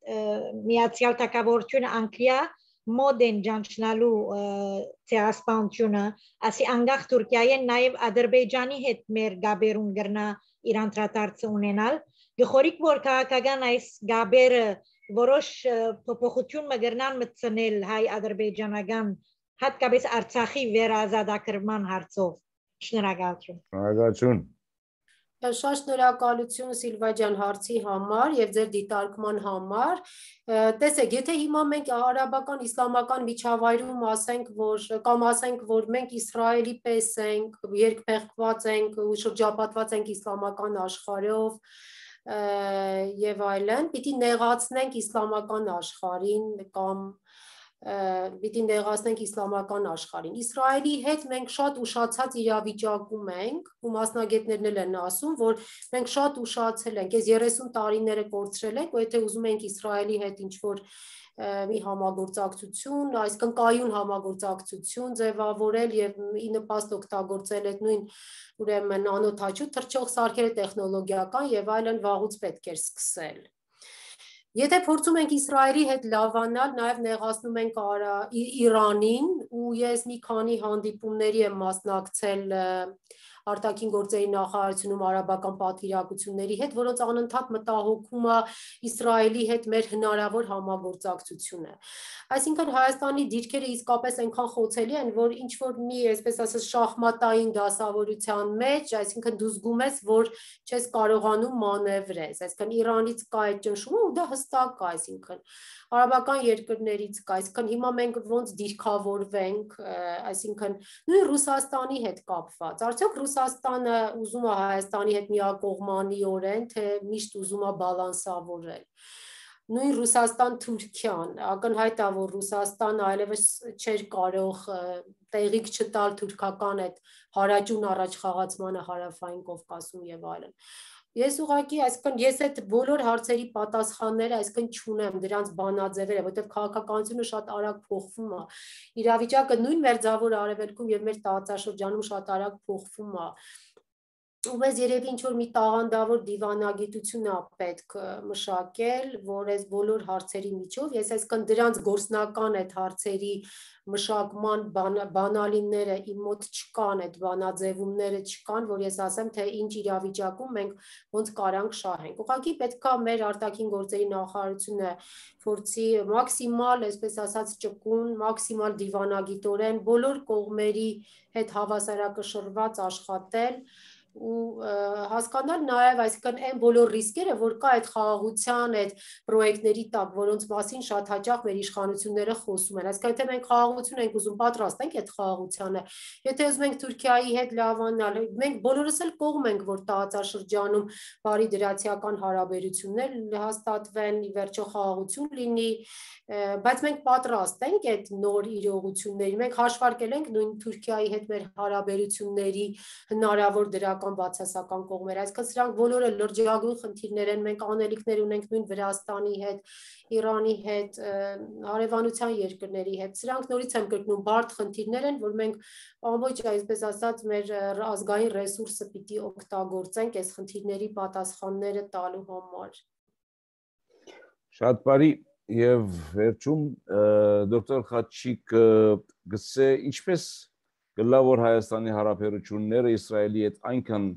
Միացյալ Թագավորությունը Անգլիա մոդեն ջանչնալու ցեղասպանությունը, ասի անգախ Թուրքիայեն նաև Ադրբեջանի հետ մեր գաբերուն գրնա իր անդրադարձը ունենալ, գխորիկ որ քաղաքական այս գաբերը որոշ փոփոխություն մգրնան մտցնել հայ ադրբեջանական հատկապես Արցախի վերազատագրման հարցով։ Շնորհակալություն։ Շնորհակալություն։ Շատ շնորհակալություն Սիլվա ջան հարցի համար եւ ձեր դիտարկման համար։ Տեսեք, եթե հիմա մենք արաբական իսլամական միջավայրում ասենք, որ կամ ասենք, որ մենք Իսրայելի պես ենք, երկփեղկված ենք ու շրջապատված ենք իսլամական աշխարհով եւ այլն, պիտի նեղացնենք իսլամական աշխարհին կամ պիտի նեղացնենք իսլամական աշխարհին։ Իսրայելի հետ մենք շատ ուշացած իրավիճակում ենք, ու մասնագետներն էլ են ասում, որ մենք շատ ուշացել ենք, այս երեսուն տարիները կորցրել ենք, ու եթե ուզում ենք Իսրայելի հետ ինչ-որ մի համագործակցություն, այսինքն կայուն համագործակցություն ձևավորել եւ ի նպաստ օգտագործել այդ նույն ուրեմն անօթաչու թռչող սարքերը տեխնոլոգիական եւ այլն վաղուց պետք էր սկսել։ Եթե փորձում ենք Իսրայելի հետ լավանալ, նաև նեղացնում ենք Իրանին, ու ես մի քանի հանդիպումների եմ մասնակցել արտաքին գործերի նախարարությունում արաբական պատվիրակությունների հետ, որոնց անընդհատ մտահոգում է Իսրայելի հետ մեր հնարավոր համագործակցությունը։ Այսինքն Հայաստանի դիրքերը իսկապես այնքան խոցելի են, որ ինչ որ մի, այսպես ասած, շախմատային դասավորության մեջ, այսինքն դու զգում ես, որ չես կարողանում մանևրես, այսինքն Իրանից կա այդ ճնշումը ու դա հստակ է, այսինքն արաբական երկրներից կա, այսինքն հիմա մենք ոնց դիրքավորվենք, այսինքն նույն Ռուսաստանի հետ կապված, արդյոք Ռուսաստանը ուզում է Հայաստանի հետ միակողմանիորեն, թե միշտ ուզում է բալանսավորել։ Նույն Ռուսաստան-Թուրքիան, ակնհայտ է, որ Ռուսաստանը այլևս չէր կարող տեղիք չտալ թուրքական այդ հարաճուն առաջխաղացմանը Հարավային Կովկասում եւ այլն։ Ես ուղղակի, այսինքն ես այդ բոլոր հարցերի պատասխանները այսինքն չունեմ, դրանց բանաձևերը, որովհետև քաղաքականությունը շատ արագ փոխվում է։ Իրավիճակը նույն Մերձավոր Արևելքում եւ մեր տարածաշրջանում շատ արագ փոխվում է։ Ու մեզ երևի ինչ-որ մի տաղանդավոր դիվանագիտություն է պետք մշակել, որ այս բոլոր հարցերի միջով, ես այսինքն դրանց գործնական այդ հարցերի մշակման բանալիները իմ մոտ չկան, այդ բանաձևումները չկան, որ ես ասեմ, թե ինչ իրավիճակում մենք ոնց կարանք շահենք։ Ուղղակի պետք է մեր արտաքին գործերի նախարարությունը փորձի մաքսիմալ, այսպես ասած, ճկուն, մաքսիմալ դիվանագիտորեն բոլոր կողմերի հետ հավասարակշռված աշխատել ու հասկանալ նաև, այսինքն այն բոլոր ռիսկերը, որ կա այդ խաղաղության, այդ պրոյեկտների տակ, որոնց մասին շատ հաճախ մեր իշխանությունները խոսում են։ Այսինքն եթե մենք խաղաղություն ենք ուզում, պատրաստ ենք այդ խաղաղությանը, եթե ուզում ենք Թուրքիայի հետ լավանալ, մենք բոլորս էլ կողմ ենք, որ տարածաշրջանում բարի դրացիական հարաբերություններ հաստատվեն, ի վերջո խաղաղություն լինի, բայց մենք պատրաստ ենք այդ նոր իրողությունների, մենք հաշվարկել ենք նույն Թուրքիայի հետ մեր հարաբերությունների հնարավոր դրական բացասական կողմերը, այսինքն սրանք բոլորը լրջագույն խնդիրներ են, մենք անելիքներ ունենք նույն Վրաստանի հետ, Իրանի հետ, հարևանության երկրների հետ, սրանք նորից եմ կրկնում, բարդ խնդիրներ են, որ մենք ամբողջ, այսպես ասած, մեր ազգային ռեսուրսը պիտի օգտագործենք այս խնդիրների պատասխանները տալու համար։ Շատ բարի եւ վերջում դոկտոր Խաչիկ գսե ինչպես գլա որ Հայաստանի հարաբերությունները Իսրայելի հետ այնքան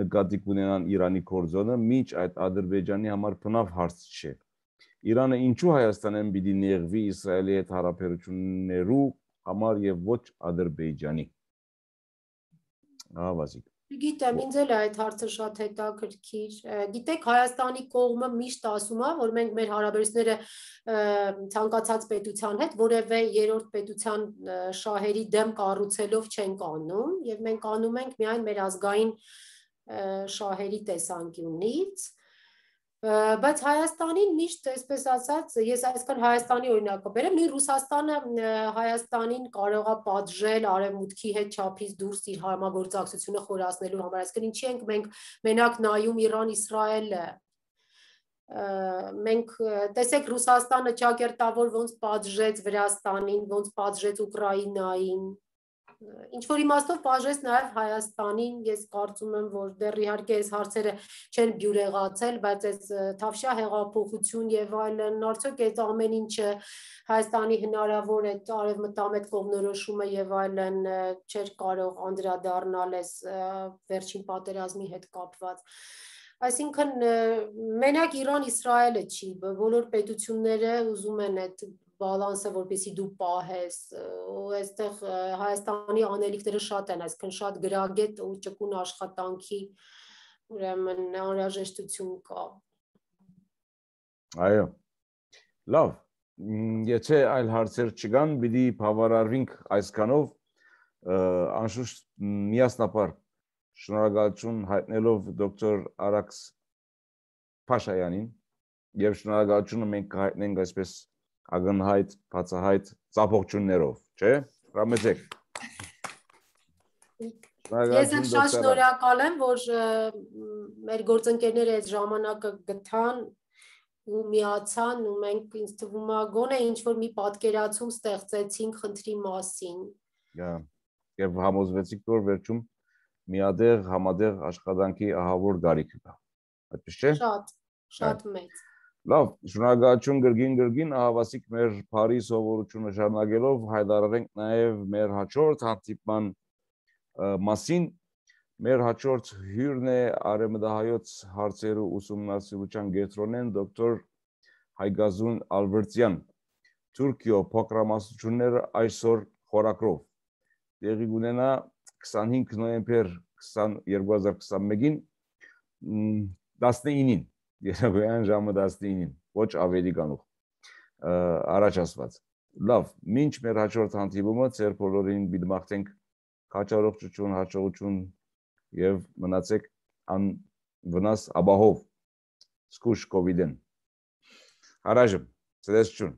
նկատի կունենան Իրանի կորձոնը, մինչ այդ Ադրբեջանի համար բնավ հարց չէ։ Իրանը ինչու Հայաստանեն պիտի նեղվի Իսրայելի հետ հարաբերություններու համար եւ ոչ Ադրբեջանի։ Ահա Վազիկ։ Գիտեմ, ինձ էլ այդ հարցը շատ հետաքրքիր։ Գիտեք, Հայաստանի կողմը միշտ ասում է, որ մենք մեր հարաբերությունները ցանկացած պետության հետ որևէ երրորդ պետության շահերի դեմ կառուցելով չենք անում, եւ մենք անում ենք միայն մեր ազգային շահերի տեսանկյունից։ Բայց Հայաստանին միշտ, այսպես ասած, ես այսքան Հայաստանի օրինակը բերեմ, նույն Ռուսաստանը Հայաստանին կարող է պատժել արևմուտքի հետ չափից դուրս իր համագործակցությունը խորացնելու համար, այսինքն ինչի ենք մենք մենակ նայում Իրան-Իսրայելը, մենք տեսեք Ռուսաստանը ճակերտավոր ոնց պատժեց Վրաստանին, ոնց պատժեց Ուկրաինային, ինչ որ իմաստով պատժեց նաև Հայաստանին, ես կարծում եմ, որ դեռ իհարկե այս հարցերը չեն բյուրեղացել, բայց այս Թավշյա հեղափոխություն եւ այլն, արդյոք այդ ամեն ինչը Հայաստանի հնարավոր այդ արևմտամետ կողմնորոշումը եւ այլն չէր կարող անդրադառնալ այս վերջին պատերազմի հետ կապված։ Այսինքն մենակ Իրան-Իսրայելը չի, բոլոր պետությունները ուզում են այդ բալանսը, որպեսզի դու պահես, ու այստեղ Հայաստանի անելիքները շատ են, այսինքն շատ գրագետ ու ճկուն աշխատանքի ուրեմն անհրաժեշտություն կա։ Այո։ Լավ, եթե այլ հարցեր չկան, պիտի բավարարվենք այսքանով, անշուշտ միասնապար շնորհակալություն հայտնելով դոկտոր Արաքս Փաշայանին եւ շնորհակալությունը մենք կհայտնենք այսպես ակնհայտ, բացահայտ ծափողջուններով, չէ՞։ Հրամեցեք։ Ես եմ շատ շնորհակալ եմ, որ մեր գործընկերները այդ ժամանակը գտան ու միացան ու մենք ինձ թվում է գոնե ինչ որ մի պատկերացում ստեղծեցինք խնդրի մասին։ Եվ համոզվեցիք, որ վերջում միադեղ համադեղ աշխատանքի ահավոր գարիք կա։ Այդպես չէ։ Շատ, շատ մեծ։ Լավ, շնորհակալություն գրգին գրգին, ահավասիկ մեր բարի սովորությունը շարունակելով հայտարարենք նաև մեր հաջորդ հանդիպման մասին։ Մեր հաջորդ հյուրն է Արևմտահայոց հարցերու ուսումնասիրության գետրոնեն դոկտոր Հայգազուն Ալբերտյան։ Թուրքիո փոքրամասնությունները այսօր խորակրով տեղի կունենա քսանհինգ նոյեմբեր երկու հազար քսանմեկին տասնինին, երեկոյան ժամը տասնինին, ոչ ավելի կանուխ առաջ ասված։ Լավ, մինչ մեր հաջորդ հանդիպումը ձեր բոլորին պիտի մաղթենք քաջառողջություն, հաջողություն եւ մնացեք անվնաս ապահով զգուշ կովիդեն։ Հարաժմ, ցտեսություն։